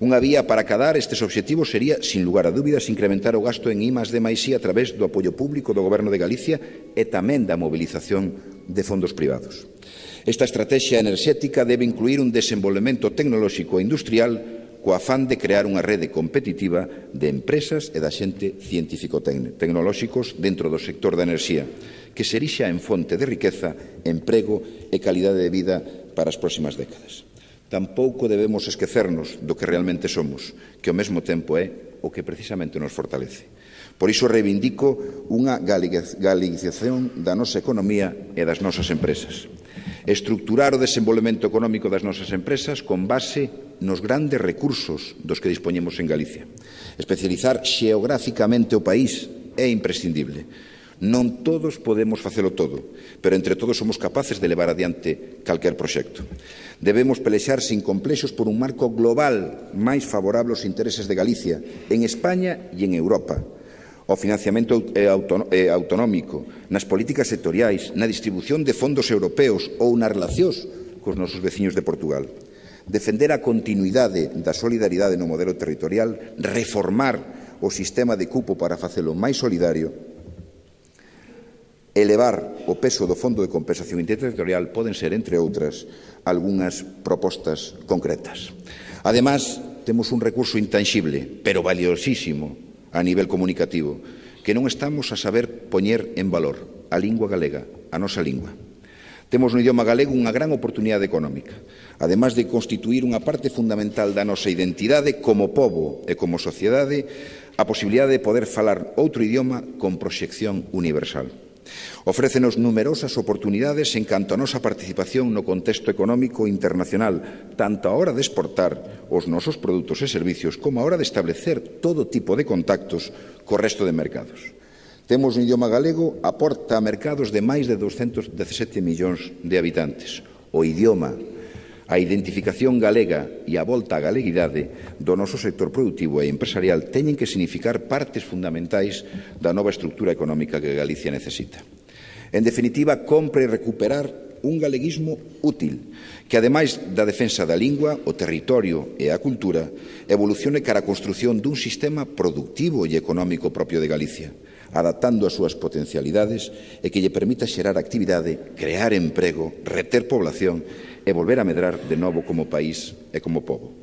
Unha vía para acadar estes obxectivos sería, sin lugar a dúbidas, incrementar o gasto en I+D+I a través do apoio público do Goberno de Galicia e tamén da mobilización de fondos privados. Esta estrategia enerxética debe incluir un desenvolvemento tecnolóxico e industrial co afán de crear unha rede competitiva de empresas e da xente científico-tecnolóxicos dentro do sector da enerxía, que se erixa en fonte de riqueza, emprego e calidade de vida para as próximas décadas. Tampouco debemos esquecernos do que realmente somos, que ao mesmo tempo é o que precisamente nos fortalece. Por iso reivindico unha galicización da nosa economía e das nosas empresas. Estructurar o desenvolvemento económico das nosas empresas con base nos grandes recursos dos que dispoñemos en Galicia. Especializar xeográficamente o país é imprescindible. Non todos podemos facelo todo, pero entre todos somos capaces de levar adiante calquer proxecto. Debemos pelexar sin complexos por un marco global máis favorable aos intereses de Galicia, en España e en Europa. O financiamento autonómico, nas políticas sectoriais, na distribución de fondos europeos ou nas relacións cos nosos veciños de Portugal. Defender a continuidade da solidaridade no modelo territorial, reformar o sistema de cupo para facelo máis solidario, elevar o peso do Fondo de Compensación Interterritorial poden ser, entre outras, algunhas propostas concretas. Ademais, temos un recurso intanxible, pero valiosísimo a nivel comunicativo, que non estamos a saber poñer en valor: a lingua galega, a nosa lingua. Temos no idioma galego unha gran oportunidade económica, ademais de constituir unha parte fundamental da nosa identidade como pobo e como sociedade, a posibilidade de poder falar outro idioma con proxección universal. Ofrécenos numerosas oportunidades en canto a nosa participación no contexto económico internacional, tanto a hora de exportar os nosos produtos e servicios como a hora de establecer todo tipo de contactos co resto de mercados. Temos un idioma galego aporta a mercados de máis de 217 millóns de habitantes. O idioma, a identificación galega e a volta á galeguidade do noso sector productivo e empresarial teñen que significar partes fundamentais da nova estrutura económica que Galicia necesita. En definitiva, compre recuperar un galeguismo útil, que, ademais da defensa da lingua, o territorio e a cultura, evolucione cara a construción dun sistema productivo e económico propio de Galicia, adaptando as súas potencialidades e que lle permita xerar actividade, crear emprego, reter población e volver a medrar de novo como país e como pobo.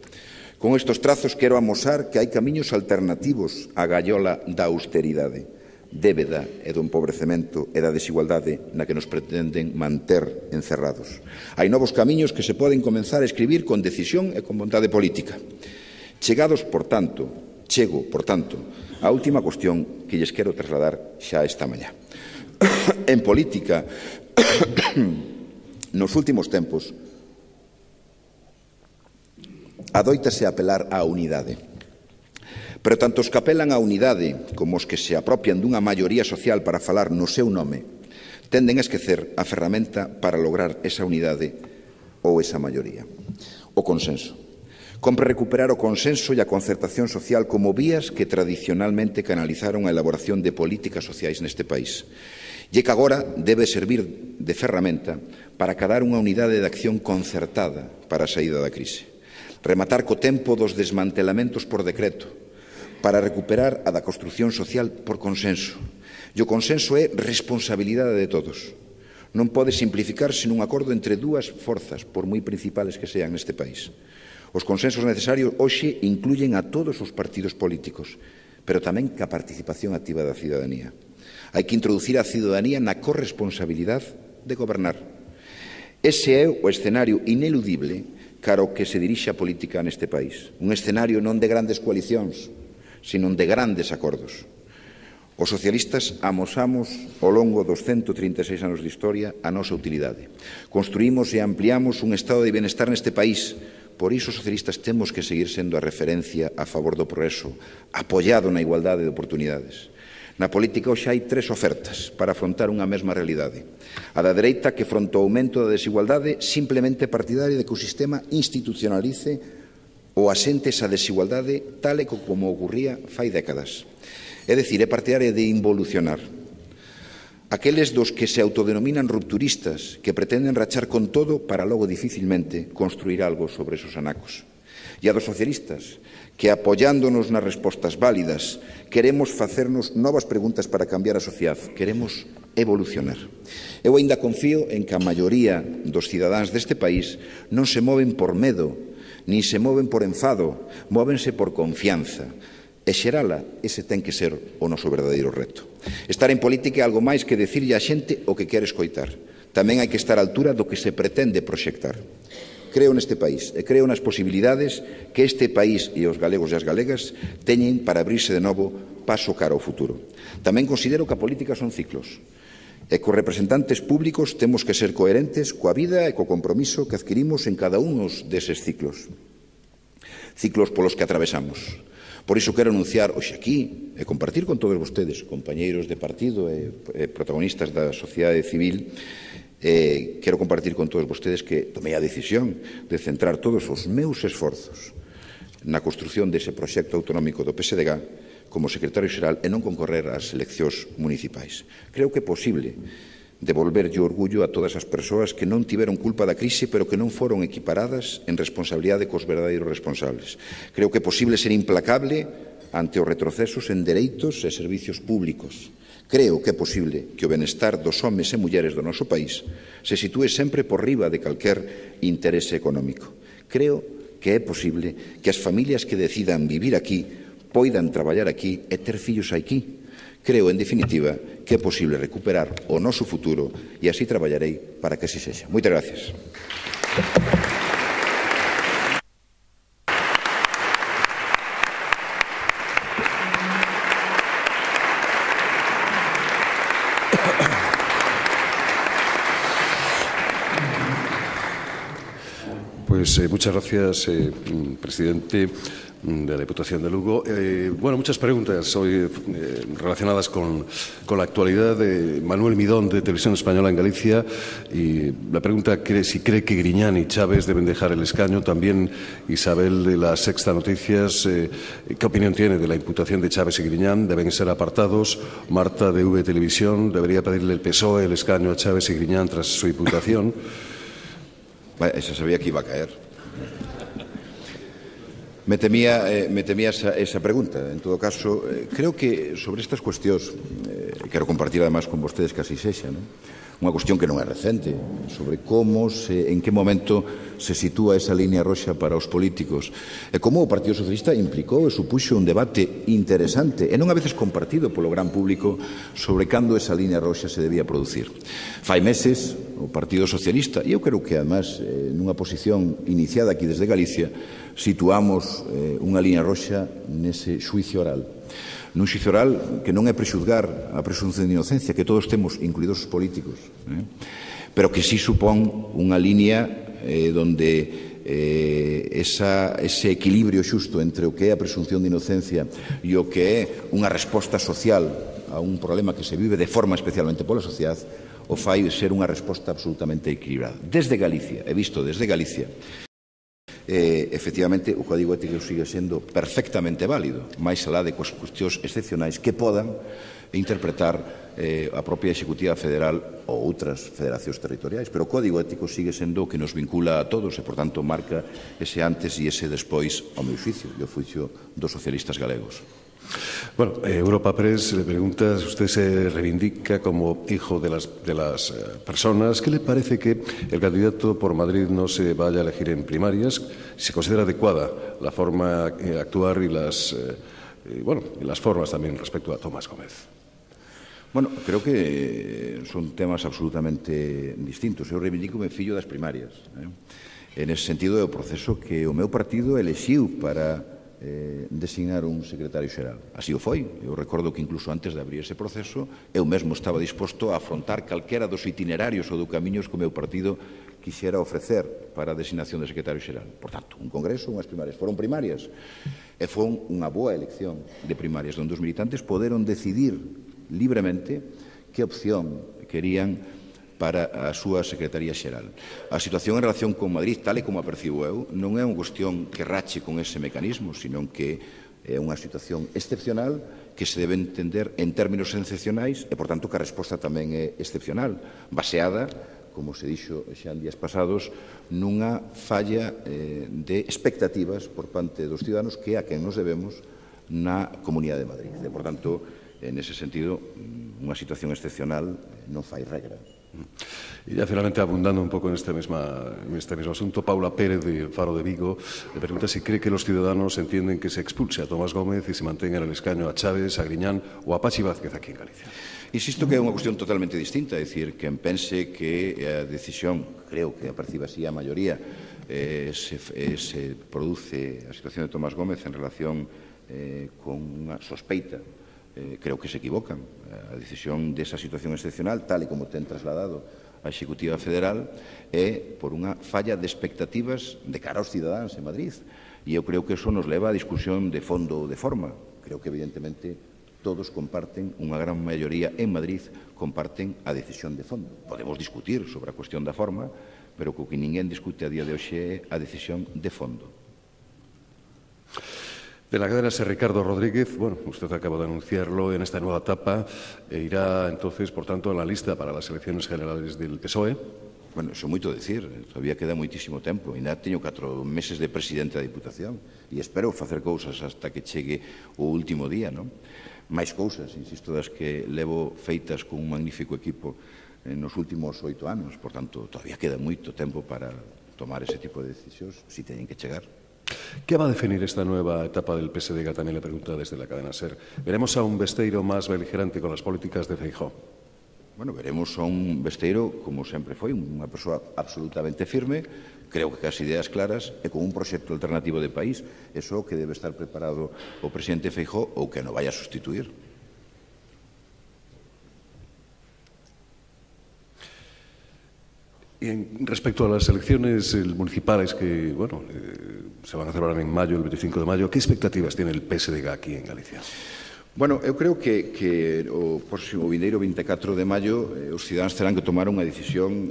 Con estes trazos quero amosar que hai camiños alternativos á gaiola da austeridade, débeda e do empobrecemento e da desigualdade na que nos pretenden manter encerrados. Hai novos camiños que se poden comenzar a escribir con decisión e con vontade política. Chego, por tanto, á última cuestión que lles quero trasladar xa esta mañá. En política, nos últimos tempos, adoítase apelar á unidade. Pero tanto os que apelan á unidade como os que se apropian dunha maioría social para falar no seu nome tenden a esquecer a ferramenta para lograr esa unidade ou esa maioría. O consenso. Compre recuperar o consenso e a concertación social como vías que tradicionalmente canalizaron a elaboración de políticas sociais neste país. E que agora debe servir de ferramenta para acadar unha unidade de acción concertada para a saída da crise. Rematar co tempo dos desmantelamentos por decreto, para recuperar a da construción social por consenso. E o consenso é responsabilidade de todos. Non pode simplificarse nun acordo entre dúas forzas, por moi principales que sean neste país. Os consensos necesarios hoxe incluyen a todos os partidos políticos, pero tamén ca participación activa da cidadanía. Hai que introducir a cidadanía na corresponsabilidade de gobernar. Ese é o escenario ineludible cara ao que se dirixe a política neste país. Un escenario non de grandes coalicións, sino de grandes acordos. Os socialistas amosamos ao longo dos 136 anos de historia a nosa utilidade. Construímos e ampliamos un estado de bienestar neste país. Por iso os socialistas temos que seguir sendo a referencia a favor do progreso, apoiado na igualdade de oportunidades. Na política hoxe hai tres ofertas para afrontar unha mesma realidade. A da dereita, que fronte ao aumento da desigualdade simplemente partidaria de que o sistema institucionalice ou asente esa desigualdade tal e como ocurría fai décadas. É dicir, é partidaria de involucionar. Aqueles dos que se autodenominan rupturistas, que pretenden rachar con todo para logo dificilmente construir algo sobre esos anacos. E a dos socialistas, que apoiándonos nas respostas válidas, queremos facernos novas preguntas para cambiar a sociedade, queremos evolucionar. Eu ainda confío en que a maioría dos cidadáns deste país non se moven por medo, nin se moven por enfado, móvense por confianza. E xerala, ese ten que ser o noso verdadeiro reto. Estar en política é algo máis que decirlle á xente o que quere escoitar. Tamén hai que estar á altura do que se pretende proxectar. Creo neste país e creo nas posibilidades que este país e os galegos e as galegas teñen para abrirse de novo paso cara ao futuro. Tamén considero que a política son ciclos e que os representantes públicos temos que ser coherentes coa vida e co compromiso que adquirimos en cada un deses ciclos. Ciclos polos que atravesamos. Por iso quero anunciar hoxe aquí e compartir con todos vostedes, compañeiros de partido e protagonistas da sociedade civil, quero compartir con todos vostedes que tomei a decisión de centrar todos os meus esforzos na construción dese proxecto autonómico do PSDG como secretario xeral e non concorrer ás eleccións municipais. Creo que é posible devolverlle o orgullo a todas as persoas que non tiveron culpa da crise, pero que non foron equiparadas en responsabilidade cos verdadeiros responsables. Creo que é posible ser implacable ante os retrocesos en dereitos e servicios públicos. Creo que é posible que o benestar dos homes e mulleres do noso país se sitúe sempre por riba de calquer interese económico. Creo que é posible que as familias que decidan vivir aquí poidan traballar aquí e ter fillos aquí. Creo, en definitiva, que é posible recuperar o noso futuro e así traballarei para que así sexa. Moitas gracias. Pues muchas gracias, presidente de la Diputación de Lugo. Muchas preguntas hoy relacionadas con la actualidad de Manuel Midón, de Televisión Española en Galicia. Y la pregunta es si cree que Griñán y Chávez deben dejar el escaño. También Isabel, de la Sexta Noticias, ¿qué opinión tiene de la imputación de Chávez y Griñán? ¿Deben ser apartados? Marta, de V Televisión, ¿debería pedirle el PSOE el escaño a Chávez y Griñán tras su imputación? Esa sabía que iba a caer. Me temía esa pregunta. En todo caso, creo que sobre estas cuestións, quero compartir además con vostedes que así sexa, unha cuestión que non é recente, sobre en que momento se sitúa esa línea roxa para os políticos, e como o Partido Socialista implicou e supuxo un debate interesante, e non a veces compartido polo gran público, sobre cando esa línea roxa se debía producir. Fai meses, o Partido Socialista, e eu creo que además nunha posición iniciada aquí desde Galicia, situamos unha línea roxa nese xuicio oral. Nun xuicio oral que non é prexuzgar a presunción de inocencia que todos temos, incluídos os políticos, pero que sí supón unha línea donde ese equilibrio xusto entre o que é a presunción de inocencia e o que é unha resposta social a un problema que se vive de forma especialmente pola sociedade o fai ser unha resposta absolutamente equilibrada. Desde Galicia, he visto desde Galicia, efectivamente o Código Ético sigue sendo perfectamente válido, máis alá de cuestións excepcionais que podan interpretar a propia Executiva Federal ou outras federacións territoriais, pero o Código Ético sigue sendo o que nos vincula a todos e, por tanto, marca ese antes e ese despois ao meu xuicio e ao xuicio dos socialistas galegos. Bueno, Europa Press le pregunta, usted se reivindica como hijo de las personas. ¿Qué le parece que el candidato por Madrid no se vaya a elegir en primarias? ¿Se considera adecuada la forma de actuar y las formas también respecto a Tomás Gómez? Bueno, creo que son temas absolutamente distintos. Eu reivindico-me fillo das primarias. En ese sentido, é o proceso que o meu partido elexiu para designar un secretario xeral. Así o foi. Eu recordo que incluso antes de abrir ese proceso eu mesmo estaba disposto a afrontar calquera dos itinerarios ou do camiños que o meu partido quixera ofrecer para a designación de secretario xeral. Por tanto, un congreso, unhas primarias. Foron primarias e foi unha boa elección de primarias onde os militantes poderon decidir libremente que opción querían para a súa Secretaría Xeral. A situación en relación con Madrid, tal e como a percibo eu, non é unha cuestión que rache con ese mecanismo, sino que é unha situación excepcional que se debe entender en términos excepcionais e, por tanto, que a resposta tamén é excepcional, baseada, como se dixo xa en días pasados, nunha falla de expectativas por parte dos ciudadanos que a quen nos debemos na Comunidade de Madrid. E, por tanto, en ese sentido, unha situación excepcional non fai regra. Y ya finalmente, abundando un poco en este mismo asunto, Paula Pérez de Faro de Vigo le pregunta si cree que los ciudadanos entienden que se expulse a Tomás Gómez y se mantenga en el escaño a Chávez, a Griñán o a Pachi Vázquez aquí en Galicia. Insisto que é unha cuestión totalmente distinta, é dicir, quen pense que a decisión, creo que a percibe así a maioría, se produce a situación de Tomás Gómez en relación con unha sospeita, creo que se equivocan. A decisión desa situación excepcional, tal e como ten trasladado a Executiva Federal, é por unha falla de expectativas de cara aos cidadáns en Madrid. E eu creo que eso nos leva a discusión de fondo ou de forma. Creo que, evidentemente, todos comparten, unha gran maioría en Madrid, comparten a decisión de fondo. Podemos discutir sobre a cuestión da forma, pero co que ninguén discute a día de hoxe é a decisión de fondo. De la cadena Ser Ricardo Rodríguez, bueno, usted acaba de anunciarlo en esta nueva etapa, irá entonces, por tanto, en la lista para las elecciones generales del PSOE. Bueno, eso é moito decir, todavía queda moitísimo tempo, ainda teño 4 meses de presidente da Diputación e espero facer cousas hasta que chegue o último día, non? Máis cousas, insisto, das que levo feitas con un magnífico equipo nos últimos 8 anos, por tanto, todavía queda moito tempo para tomar ese tipo de decisións, si teñen que chegar. ¿Qué va a definir esta nueva etapa del PSDG? También le pregunta desde la cadena SER. ¿Veremos a un Besteiro más beligerante con las políticas de Feijóo? Bueno, veremos a un Besteiro, como sempre foi, unha persoa absolutamente firme, creo que as ideas claras e con un proxecto alternativo de país. Eso que debe estar preparado o presidente Feijóo ou que non vaya a sustituir. Y respecto a las elecciones municipales que, bueno, se van a celebrar en mayo, el 25 de mayo, ¿qué expectativas tiene el PSDG aquí en Galicia? Bueno, eu creo que o próximo vindeiro 24 de maio os cidadáns terán que tomar unha decisión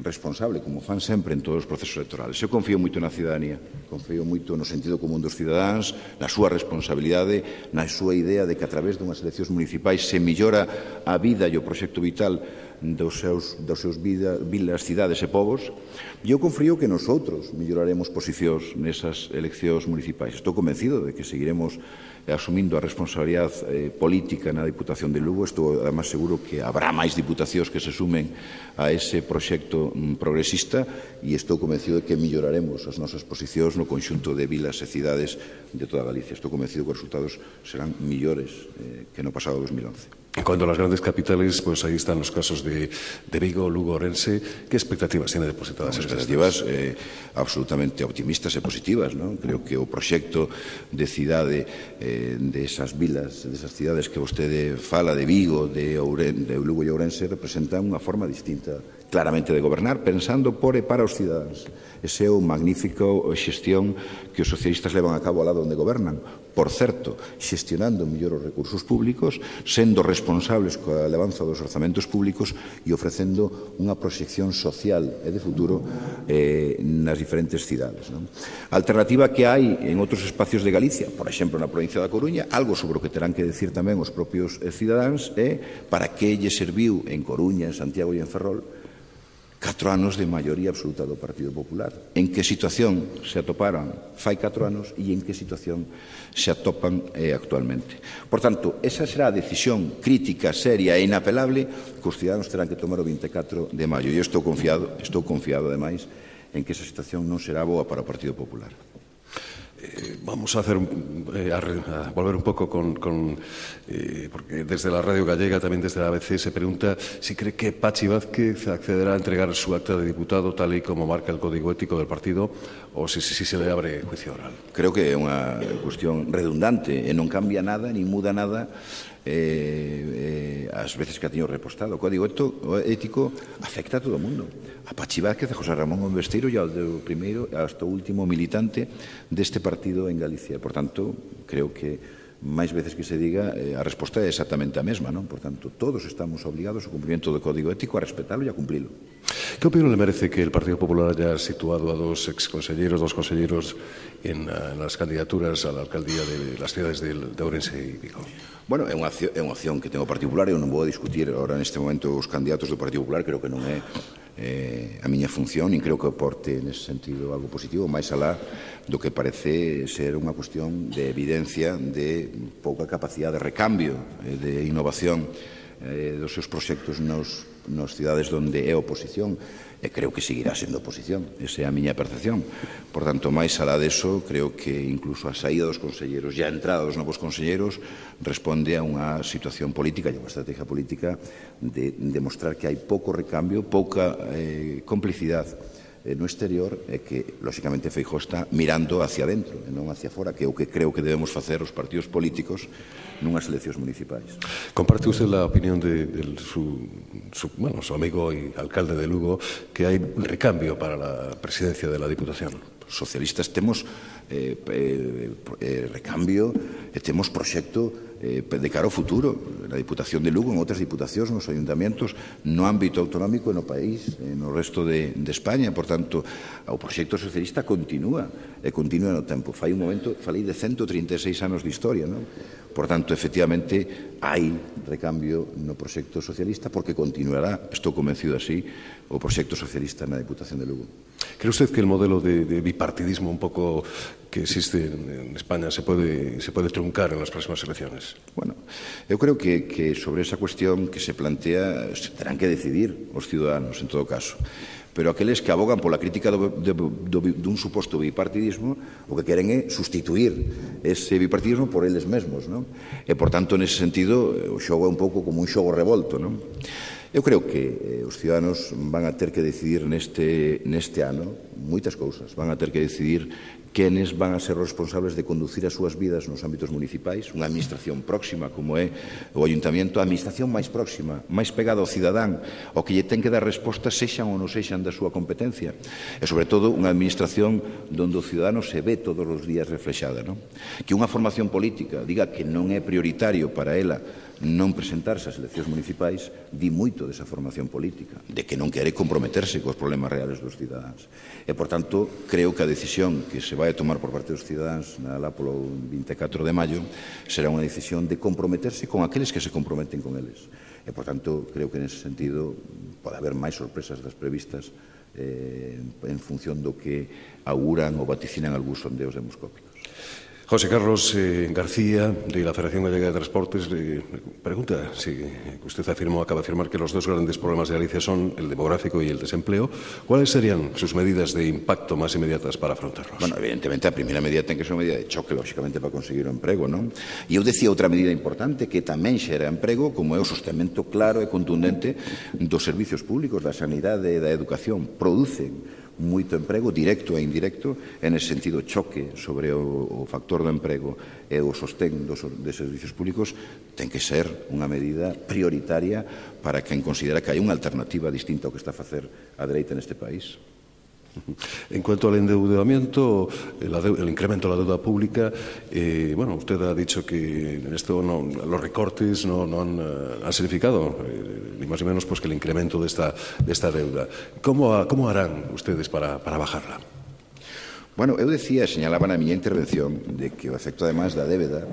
responsable, como fan sempre en todos os procesos electorales. Eu confío moito na cidadanía, confío moito no sentido común dos cidadáns, na súa responsabilidade, na súa idea de que a través dunhas eleccións municipais se millora a vida e o proxecto vital dos seus vilas, cidades e povos. E eu confío que nosotros melloraremos posicións nesas eleccións municipais. Estou convencido de que seguiremos asumindo a responsabilidade política na Diputación de Lugo. Estou, además, seguro que habrá máis diputacións que se sumen a ese proxecto progresista e estou convencido de que melloraremos as nosas posicións no conxunto de vilas e cidades de toda Galicia. Estou convencido que os resultados serán millores que no pasado 2011. En cuanto a las grandes capitales, pues ahí están los casos de Vigo, Lugo, Ourense. ¿Qué expectativas tiene depositadas? Expectativas absolutamente optimistas e positivas, non? Creo que o proxecto de cidade de esas vilas, de esas cidades que vostede fala, de Vigo, de Lugo e Ourense, representan unha forma distinta, claramente, de gobernar, pensando por e para os cidadáns. Ese é o magnífico xestión que os socialistas levan a cabo ao lado onde gobernan. Por certo, xestionando mellor os recursos públicos, sendo responsables coa elevanza dos orzamentos públicos e ofrecendo unha proxección social e de futuro nas diferentes cidades. A alternativa que hai en outros espacios de Galicia, por exemplo, na provincia da Coruña, algo sobre o que terán que decir tamén os propios cidadáns, é para que lle serviu en Coruña, en Santiago e en Ferrol 4 anos de maioría absoluta do Partido Popular. En que situación se atoparan fai 4 anos e en que situación se atopan actualmente. Por tanto, esa será a decisión crítica, seria e inapelable que os cidadáns terán que tomar o 24 de maio. E eu estou confiado, ademais, en que esa situación non será boa para o Partido Popular. Vamos a volver un poco porque desde la radio gallega, también desde la ABC, se pregunta si cree que Pachi Vázquez accederá a entregar su acta de diputado tal y como marca el código ético del partido o si se le abre juicio oral. Creo que é unha cuestión redundante e non cambia nada, ni muda nada as veces que a teño repostado. O código ético afecta a todo o mundo. A Pachi Vázquez, a José Ramón Besteiro e ao primeiro hasta o último militante deste partido en Galicia. Por tanto, creo que máis veces que se diga, a resposta é exactamente a mesma, non? Por tanto, todos estamos obligados ao cumprimento do código ético, a respetalo e a cumplilo. ¿Qué opinión le merece que el Partido Popular haya situado a dos exconselleros, dos conselleros en las candidaturas a la alcaldía de las ciudades de Ourense e Vigo? Bueno, é unha opción que ten o Partido Popular. Eu non vou a discutir agora neste momento os candidatos do Partido Popular. Creo que non é a miña función, nin creo que aporte nese sentido algo positivo, máis alá do que parece ser unha cuestión de evidencia de pouca capacidade de recambio, de innovación dos seus proxectos nas cidades onde é oposición. E creo que seguirá sendo oposición. Esa é a miña percepción. Por tanto, máis alá deso, creo que incluso a saída dos conselleros e a entrada dos novos conselleros responde a unha situación política e a unha estrategia política de demostrar que hai pouco recambio, pouca complicidade no exterior e que, lóxicamente, Feijóo está mirando hacia dentro e non hacia fora, que é o que creo que debemos facer os partidos políticos nunhas eleccións municipais. ¿Comparte usted la opinión de su amigo y alcalde de Lugo que hay un recambio para la presidencia de la Diputación? Os socialistas temos recambio e temos proxecto de cara ao futuro na Diputación de Lugo, en outras diputacións, nos ayuntamientos, no ámbito autonómico e no país, no resto de España. Por tanto, o proxecto socialista continúa e continúa no tempo. Fai un momento, falei de 136 anos de historia, non? Por tanto, efectivamente, hai recambio no proxecto socialista porque continuará, estou convencido así, o proxecto socialista na Diputación de Lugo. ¿Cree usted que el modelo de bipartidismo un poco que existe en España se puede truncar en las próximas elecciones? Bueno, eu creo que sobre esa cuestión que se plantea terán que decidir os ciudadanos, en todo caso. Pero aqueles que abogan pola crítica dun suposto bipartidismo o que queren é sustituir ese bipartidismo por eles mesmos, non? E, por tanto, nese sentido, o xogo é un pouco como un xogo revolto, non? Eu creo que os ciudadanos van a ter que decidir neste ano moitas cousas. Van a ter que decidir quenes van a ser os responsables de conducir as súas vidas nos ámbitos municipais, unha administración próxima como é o Ayuntamento, a administración máis próxima, máis pegada ao cidadán, ao que lle ten que dar respostas sexan ou non sexan da súa competencia. E, sobre todo, unha administración onde o cidadano se ve todos os días reflexada, non? Que unha formación política diga que non é prioritario para ela non presentarse ás eleccións municipais di moito desa formación política, de que non quere comprometerse cos problemas reales dos cidadáns. E, por tanto, creo que a decisión que se vai a tomar por parte dos cidadáns alá polo 24 de maio será unha decisión de comprometerse con aqueles que se comprometen con eles. E, por tanto, creo que nese sentido pode haber máis sorpresas das previstas en función do que auguran ou vaticinan algúns sondeos demoscópicos. José Carlos García, de la Federación Gallega de Transportes, le pregunta si usted acaba de afirmar que los dos grandes problemas de Galicia son el demográfico y el desempleo. ¿Cuáles serían sus medidas de impacto más inmediatas para afrontarlos? Bueno, evidentemente, a primeira medida ten que ser unha medida de choque, lógicamente, para conseguir o emprego, non? E eu decía outra medida importante que tamén xera emprego, como é o sostenimento claro e contundente dos servicios públicos, da sanidade e da educación. Producen moito emprego, directo e indirecto, en ese sentido choque sobre o factor do emprego e o sostén de servicios públicos ten que ser unha medida prioritaria para quen considera que hai unha alternativa distinta ao que está a facer a dereita neste país. En cuanto al endeudamiento, el incremento de la deuda pública, bueno, usted ha dicho que en esto los recortes no han significado ni más ni menos pues que el incremento de esta deuda. ¿Cómo harán ustedes para bajarla? Bueno, eu decía, señalaba na miña intervención, de que o efecto, ademais da débeda,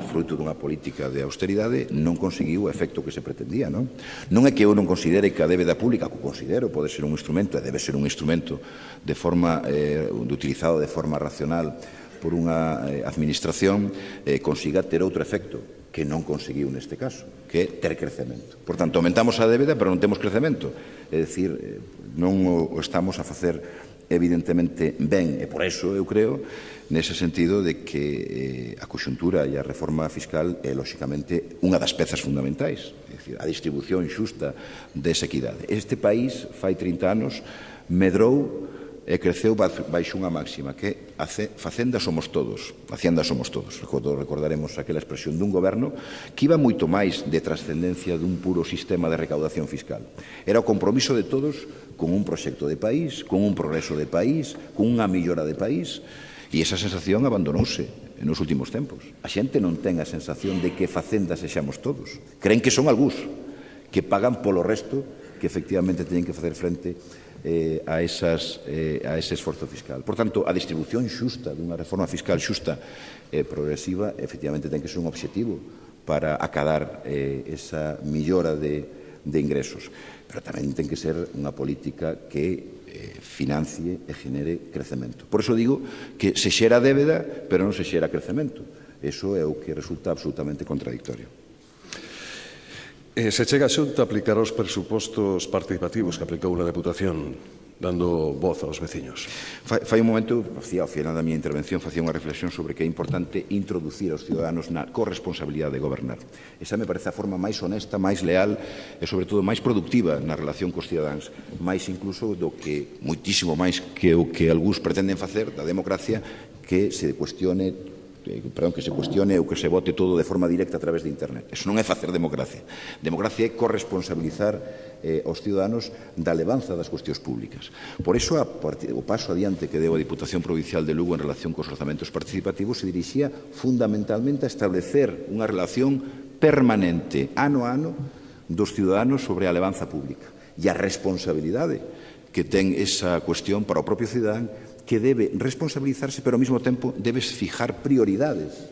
fruto dunha política de austeridade, non conseguiu o efecto que se pretendía, non? Non é que eu non considere que a débeda pública, que considero pode ser un instrumento, e debe ser un instrumento utilizado de forma racional por unha administración, consiga ter outro efecto, que non conseguiu neste caso, que é ter crecemento. Por tanto, aumentamos a débeda, pero non temos crecemento. É dicir, non o estamos a facer evidentemente ben, e por eso eu creo nese sentido de que a conxuntura e a reforma fiscal é lóxicamente unha das pezas fundamentais, é dicir, a distribución xusta desa equidade. Este país fai 30 anos medrou e creceu baixo unha máxima que a facenda somos todos, a hacienda somos todos. Recordaremos aquela expresión dun goberno que iba moito máis de trascendencia dun puro sistema de recaudación fiscal. Era o compromiso de todos con un proxecto de país, con un progreso de país, con unha millora de país, e esa sensación abandonouse nos últimos tempos. A xente non ten a sensación de que facenda sexamos todos. Creen que son algúns que pagan polo resto que efectivamente teñen que facer frente a ese esforzo fiscal. Por tanto, a distribución xusta dunha reforma fiscal xusta e progresiva efectivamente ten que ser un obxectivo para acadar esa millora de ingresos, pero tamén ten que ser unha política que financie e genere crecemento. Por iso digo que se xera débeda, pero non se xera crecemento. Iso é o que resulta absolutamente contradictorio. Se chega a Xunta a aplicar os presupostos participativos que aplicou a Deputación, dando voz aos veciños. Fai un momento, ao final da miña intervención, facía unha reflexión sobre que é importante introducir aos ciudadanos na corresponsabilidade de gobernar. Esa me parece a forma máis honesta, máis leal e, sobre todo, máis productiva na relación cos cidadáns, máis incluso do que, moitísimo máis que o que algúns pretenden facer da democracia, que se cuestione ou que se vote todo de forma directa a través de internet. Eso non é facer democracia. Democracia é corresponsabilizar aos ciudadanos da levanza das cuestións públicas. Por iso, o paso adiante que deu a Diputación Provincial de Lugo en relación cos orzamentos participativos se dirixía fundamentalmente a establecer unha relación permanente, ano a ano, dos ciudadanos sobre a levanza pública e a responsabilidade que ten esa cuestión para o propio cidadán, que debe responsabilizarse, pero ao mesmo tempo debes fijar prioridades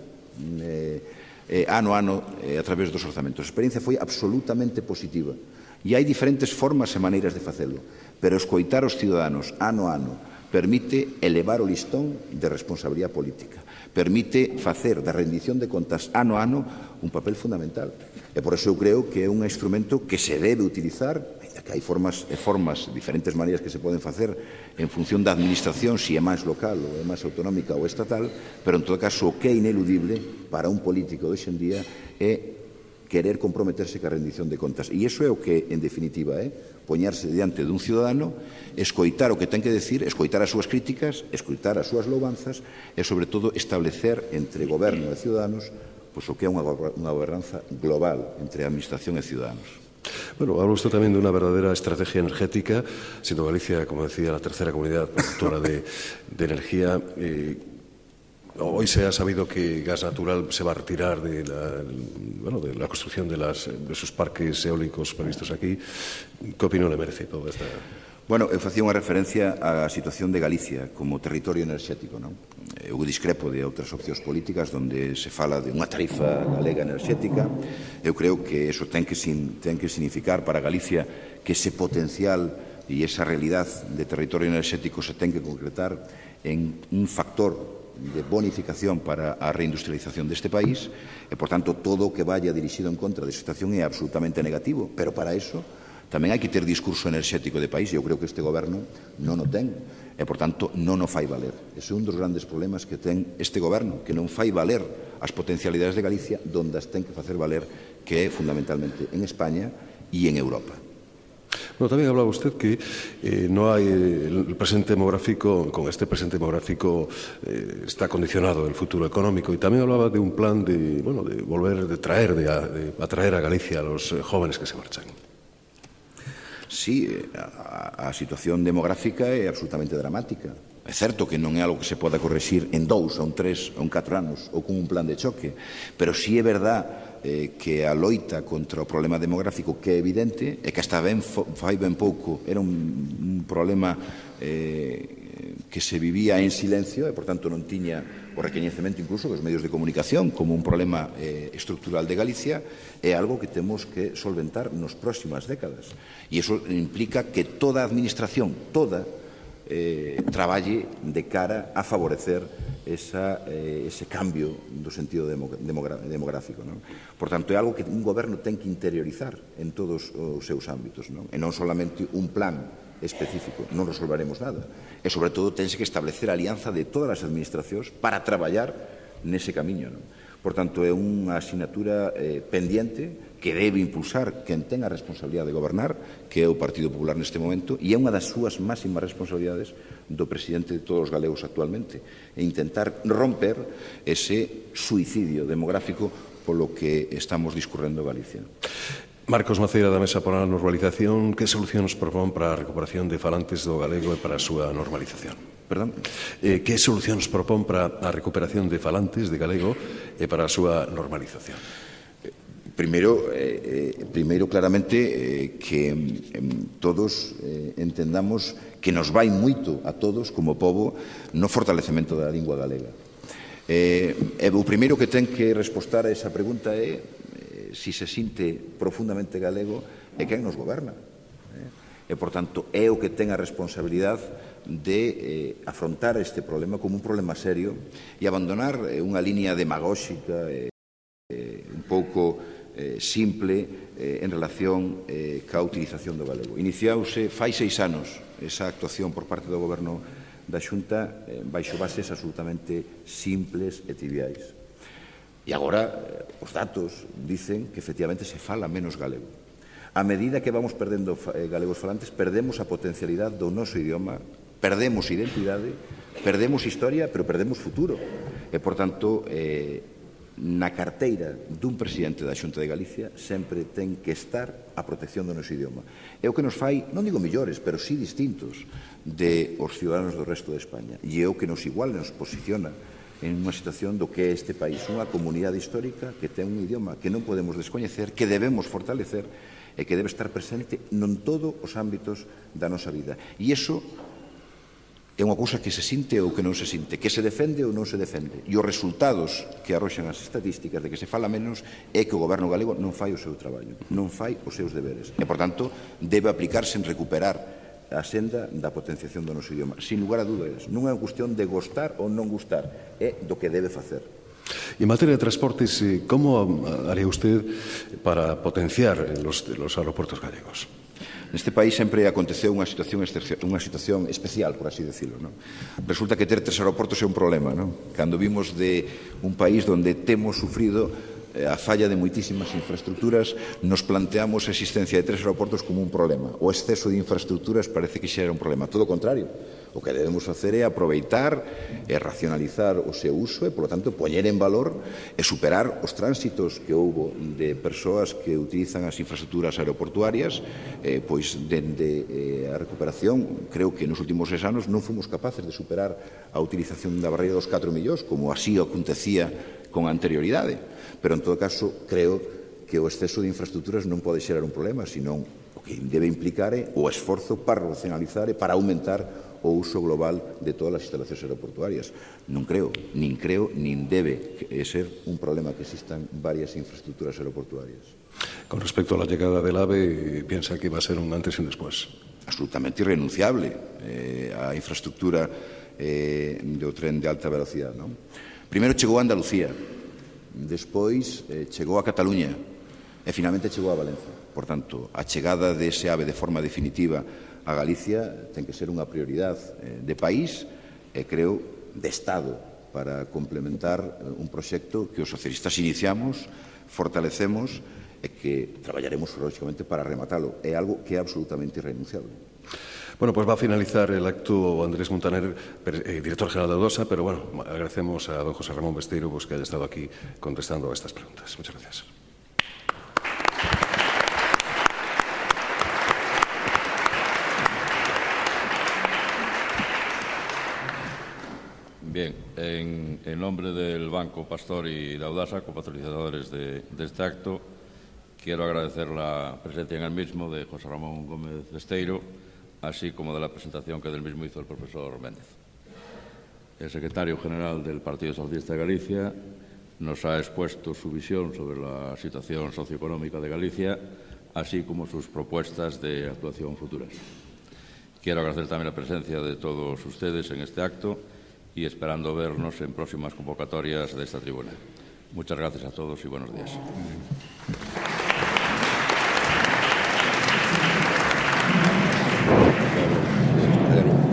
ano a ano a través dos orzamentos. A experiencia foi absolutamente positiva e hai diferentes formas e maneiras de facelo, pero escoitar os ciudadanos ano a ano permite elevar o listón de responsabilidade política, permite facer da rendición de contas ano a ano un papel fundamental. E por iso eu creo que é un instrumento que se debe utilizar, que hai formas, diferentes maneiras que se poden facer en función da administración, se é máis local ou é máis autonómica ou estatal, pero en todo caso o que é ineludible para un político de hoxendía é querer comprometerse ca rendición de contas. E iso é o que, en definitiva, é poñerse diante dun ciudadano, escoitar o que ten que decir, escoitar as súas críticas, escoitar as súas louvanzas e, sobre todo, establecer entre goberno e ciudadanos pois o que é unha gobernanza global entre a administración e ciudadanos. Bueno, habla usted también de una verdadera estrategia energética, siendo Galicia, como decía, la tercera comunidad productora de energía. Hoy se ha sabido que Gas Natural se va a retirar de la construcción de sus parques eólicos previstos aquí. ¿Qué opinión le merece toda esta...? Bueno, eu facía unha referencia á situación de Galicia como territorio enerxético, non? Eu discrepo de outras opcións políticas onde se fala de unha tarifa galega enerxética. Eu creo que eso ten que significar para Galicia que ese potencial e esa realidad de territorio enerxético se ten que concretar en un factor de bonificación para a reindustrialización deste país e, por tanto, todo o que vaya dirixido en contra desa situación é absolutamente negativo, pero para eso tamén hai que ter discurso enerxético de país e eu creo que este goberno non o ten e, por tanto, non o fai valer. Ese é un dos grandes problemas que ten este goberno, que non fai valer as potencialidades de Galicia donde as ten que facer valer, que é fundamentalmente en España e en Europa. Bueno, también hablaba usted que no hay el presente demográfico, con este presente demográfico está condicionado el futuro económico, y también hablaba de un plan de atraer a Galicia a los jóvenes que se marchan. Sí, a situación demográfica é absolutamente dramática. É certo que non é algo que se poda correxir en 2, ou 3, ou 4 anos, ou con un plan de choque, pero sí é verdad que a loita contra o problema demográfico, que é evidente, e que hasta fai ben pouco era un problema que se vivía en silencio e, por tanto, non tiña o recoñecemento incluso dos medios de comunicación como un problema estructural de Galicia, é algo que temos que solventar nas próximas décadas. E iso implica que toda a administración, traballe de cara a favorecer ese cambio do sentido demográfico. Por tanto, é algo que un goberno ten que interiorizar en todos os seus ámbitos, e non solamente un plan específico, non resolveremos nada. E, sobre todo, tense que establecer a alianza de todas as administracións para traballar nese camiño. Por tanto, é unha asignatura pendiente que debe impulsar quen ten a responsabilidade de gobernar, que é o Partido Popular neste momento, e é unha das súas máximas responsabilidades do presidente de todos os galegos actualmente, e intentar romper ese suicidio demográfico polo que estamos discurrendo Galicia. Marcos Maceira, da Mesa para a Normalización, que solucións propón para a recuperación de falantes do galego e para a súa normalización? Perdón? Que solucións propón para a recuperación de falantes de galego e para a súa normalización? Primeiro, claramente, que todos entendamos que nos vai moito a todos, como pobo, no fortalecemento da lingua galega. O primeiro que ten que respostar a esa pregunta é si se sinte profundamente galego e quen nos goberna. E, por tanto, é o que ten a responsabilidade de afrontar este problema como un problema serio e abandonar unha línea demagóxica un pouco simple en relación ca utilización do galego. Iniciause fai 6 anos esa actuación por parte do Goberno da Xunta baixo bases absolutamente simples e triviais. E agora os datos dicen que efectivamente se fala menos galego. A medida que vamos perdendo galegos falantes, perdemos a potencialidade do noso idioma, perdemos identidade, perdemos historia, pero perdemos futuro. E, por tanto, na carteira dun presidente da Xunta de Galicia sempre ten que estar a protección do noso idioma. É o que nos fai, non digo millores, pero sí distintos de os ciudadanos do resto de España. E é o que nos igual nos posiciona en unha situación do que é este país, unha comunidade histórica que ten un idioma que non podemos descoñecer, que debemos fortalecer e que debe estar presente non todos os ámbitos da nosa vida. E iso é unha cousa que se sinte ou que non se sinte, que se defende ou non se defende. E os resultados que arroxan as estatísticas de que se fala menos é que o goberno galego non fai o seu traballo, non fai os seus deberes. E, por tanto, debe aplicarse en recuperar a senda da potenciación do noso idioma. Sin lugar a dúdas, non é unha cuestión de gustar ou non gustar, é do que debe facer. Y en materia de transportes, ¿cómo haría usted para potenciar los aeropuertos gallegos? Neste país sempre aconteceu unha situación especial, por así decirlo. Resulta que ter 3 aeroportos é un problema. Cando vimos de un país onde temos sufrido a falla de moitísimas infraestructuras, nos planteamos a existencia de 3 aeroportos como un problema. O exceso de infraestructuras parece que xa era un problema. Todo o contrario. O que debemos facer é aproveitar e racionalizar o seu uso e, polo tanto, poñer en valor e superar os tránsitos que houbo de persoas que utilizan as infraestructuras aeroportuarias, pois, dende a recuperación, creo que nos últimos 6 anos non fomos capaces de superar a utilización da barreira dos 4 millóns, como así acontecía con anterioridade. Pero, en todo caso, creo que o exceso de infraestructuras non pode xerar un problema, senón o que debe implicar é o esforzo para racionalizar e para aumentar o uso global de todas as instalacións aeroportuarias. Non creo, nin debe ser un problema que existan varias infraestructuras aeroportuarias. Con respecto a la llegada del AVE, ¿piensa que va a ser un antes y un después? Absolutamente irrenunciable a infraestructura do tren de alta velocidade. Primeiro chegou a Andalucía, despois chegou a Cataluña e finalmente chegou a Valencia. Por tanto, a chegada dese AVE de forma definitiva a Galicia ten que ser unha prioridade de país e, creo, de Estado para complementar un proxecto que os socialistas iniciamos, fortalecemos e que traballaremos, lógicamente, para rematalo. É algo que é absolutamente irrenunciable. Bueno, pues va a finalizar el acto Andrés Montaner, director general de Audosa, pero bueno, agradecemos a don José Ramón Besteiro que haya estado aquí contestando a estas preguntas. Muchas gracias. Bien, en nombre del Banco Pastor y de Audasa, copatrocinadores de este acto, quiero agradecer la presencia en el mismo de José Ramón Gómez Besteiro, así como de la presentación que del mismo hizo el profesor Méndez. El secretario general del Partido Socialista de Galicia nos ha expuesto su visión sobre la situación socioeconómica de Galicia, así como sus propuestas de actuación futuras. Quiero agradecer también la presencia de todos ustedes en este acto y esperando vernos en próximas convocatorias de esta tribuna. Muchas gracias a todos y buenos días.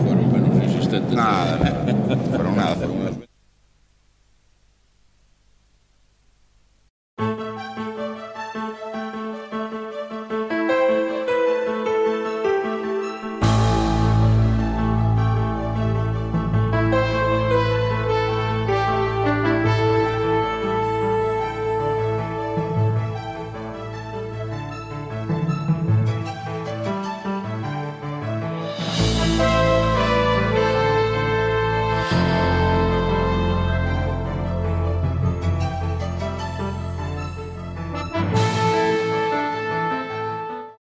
Fueron menos insistentes. Nada, fueron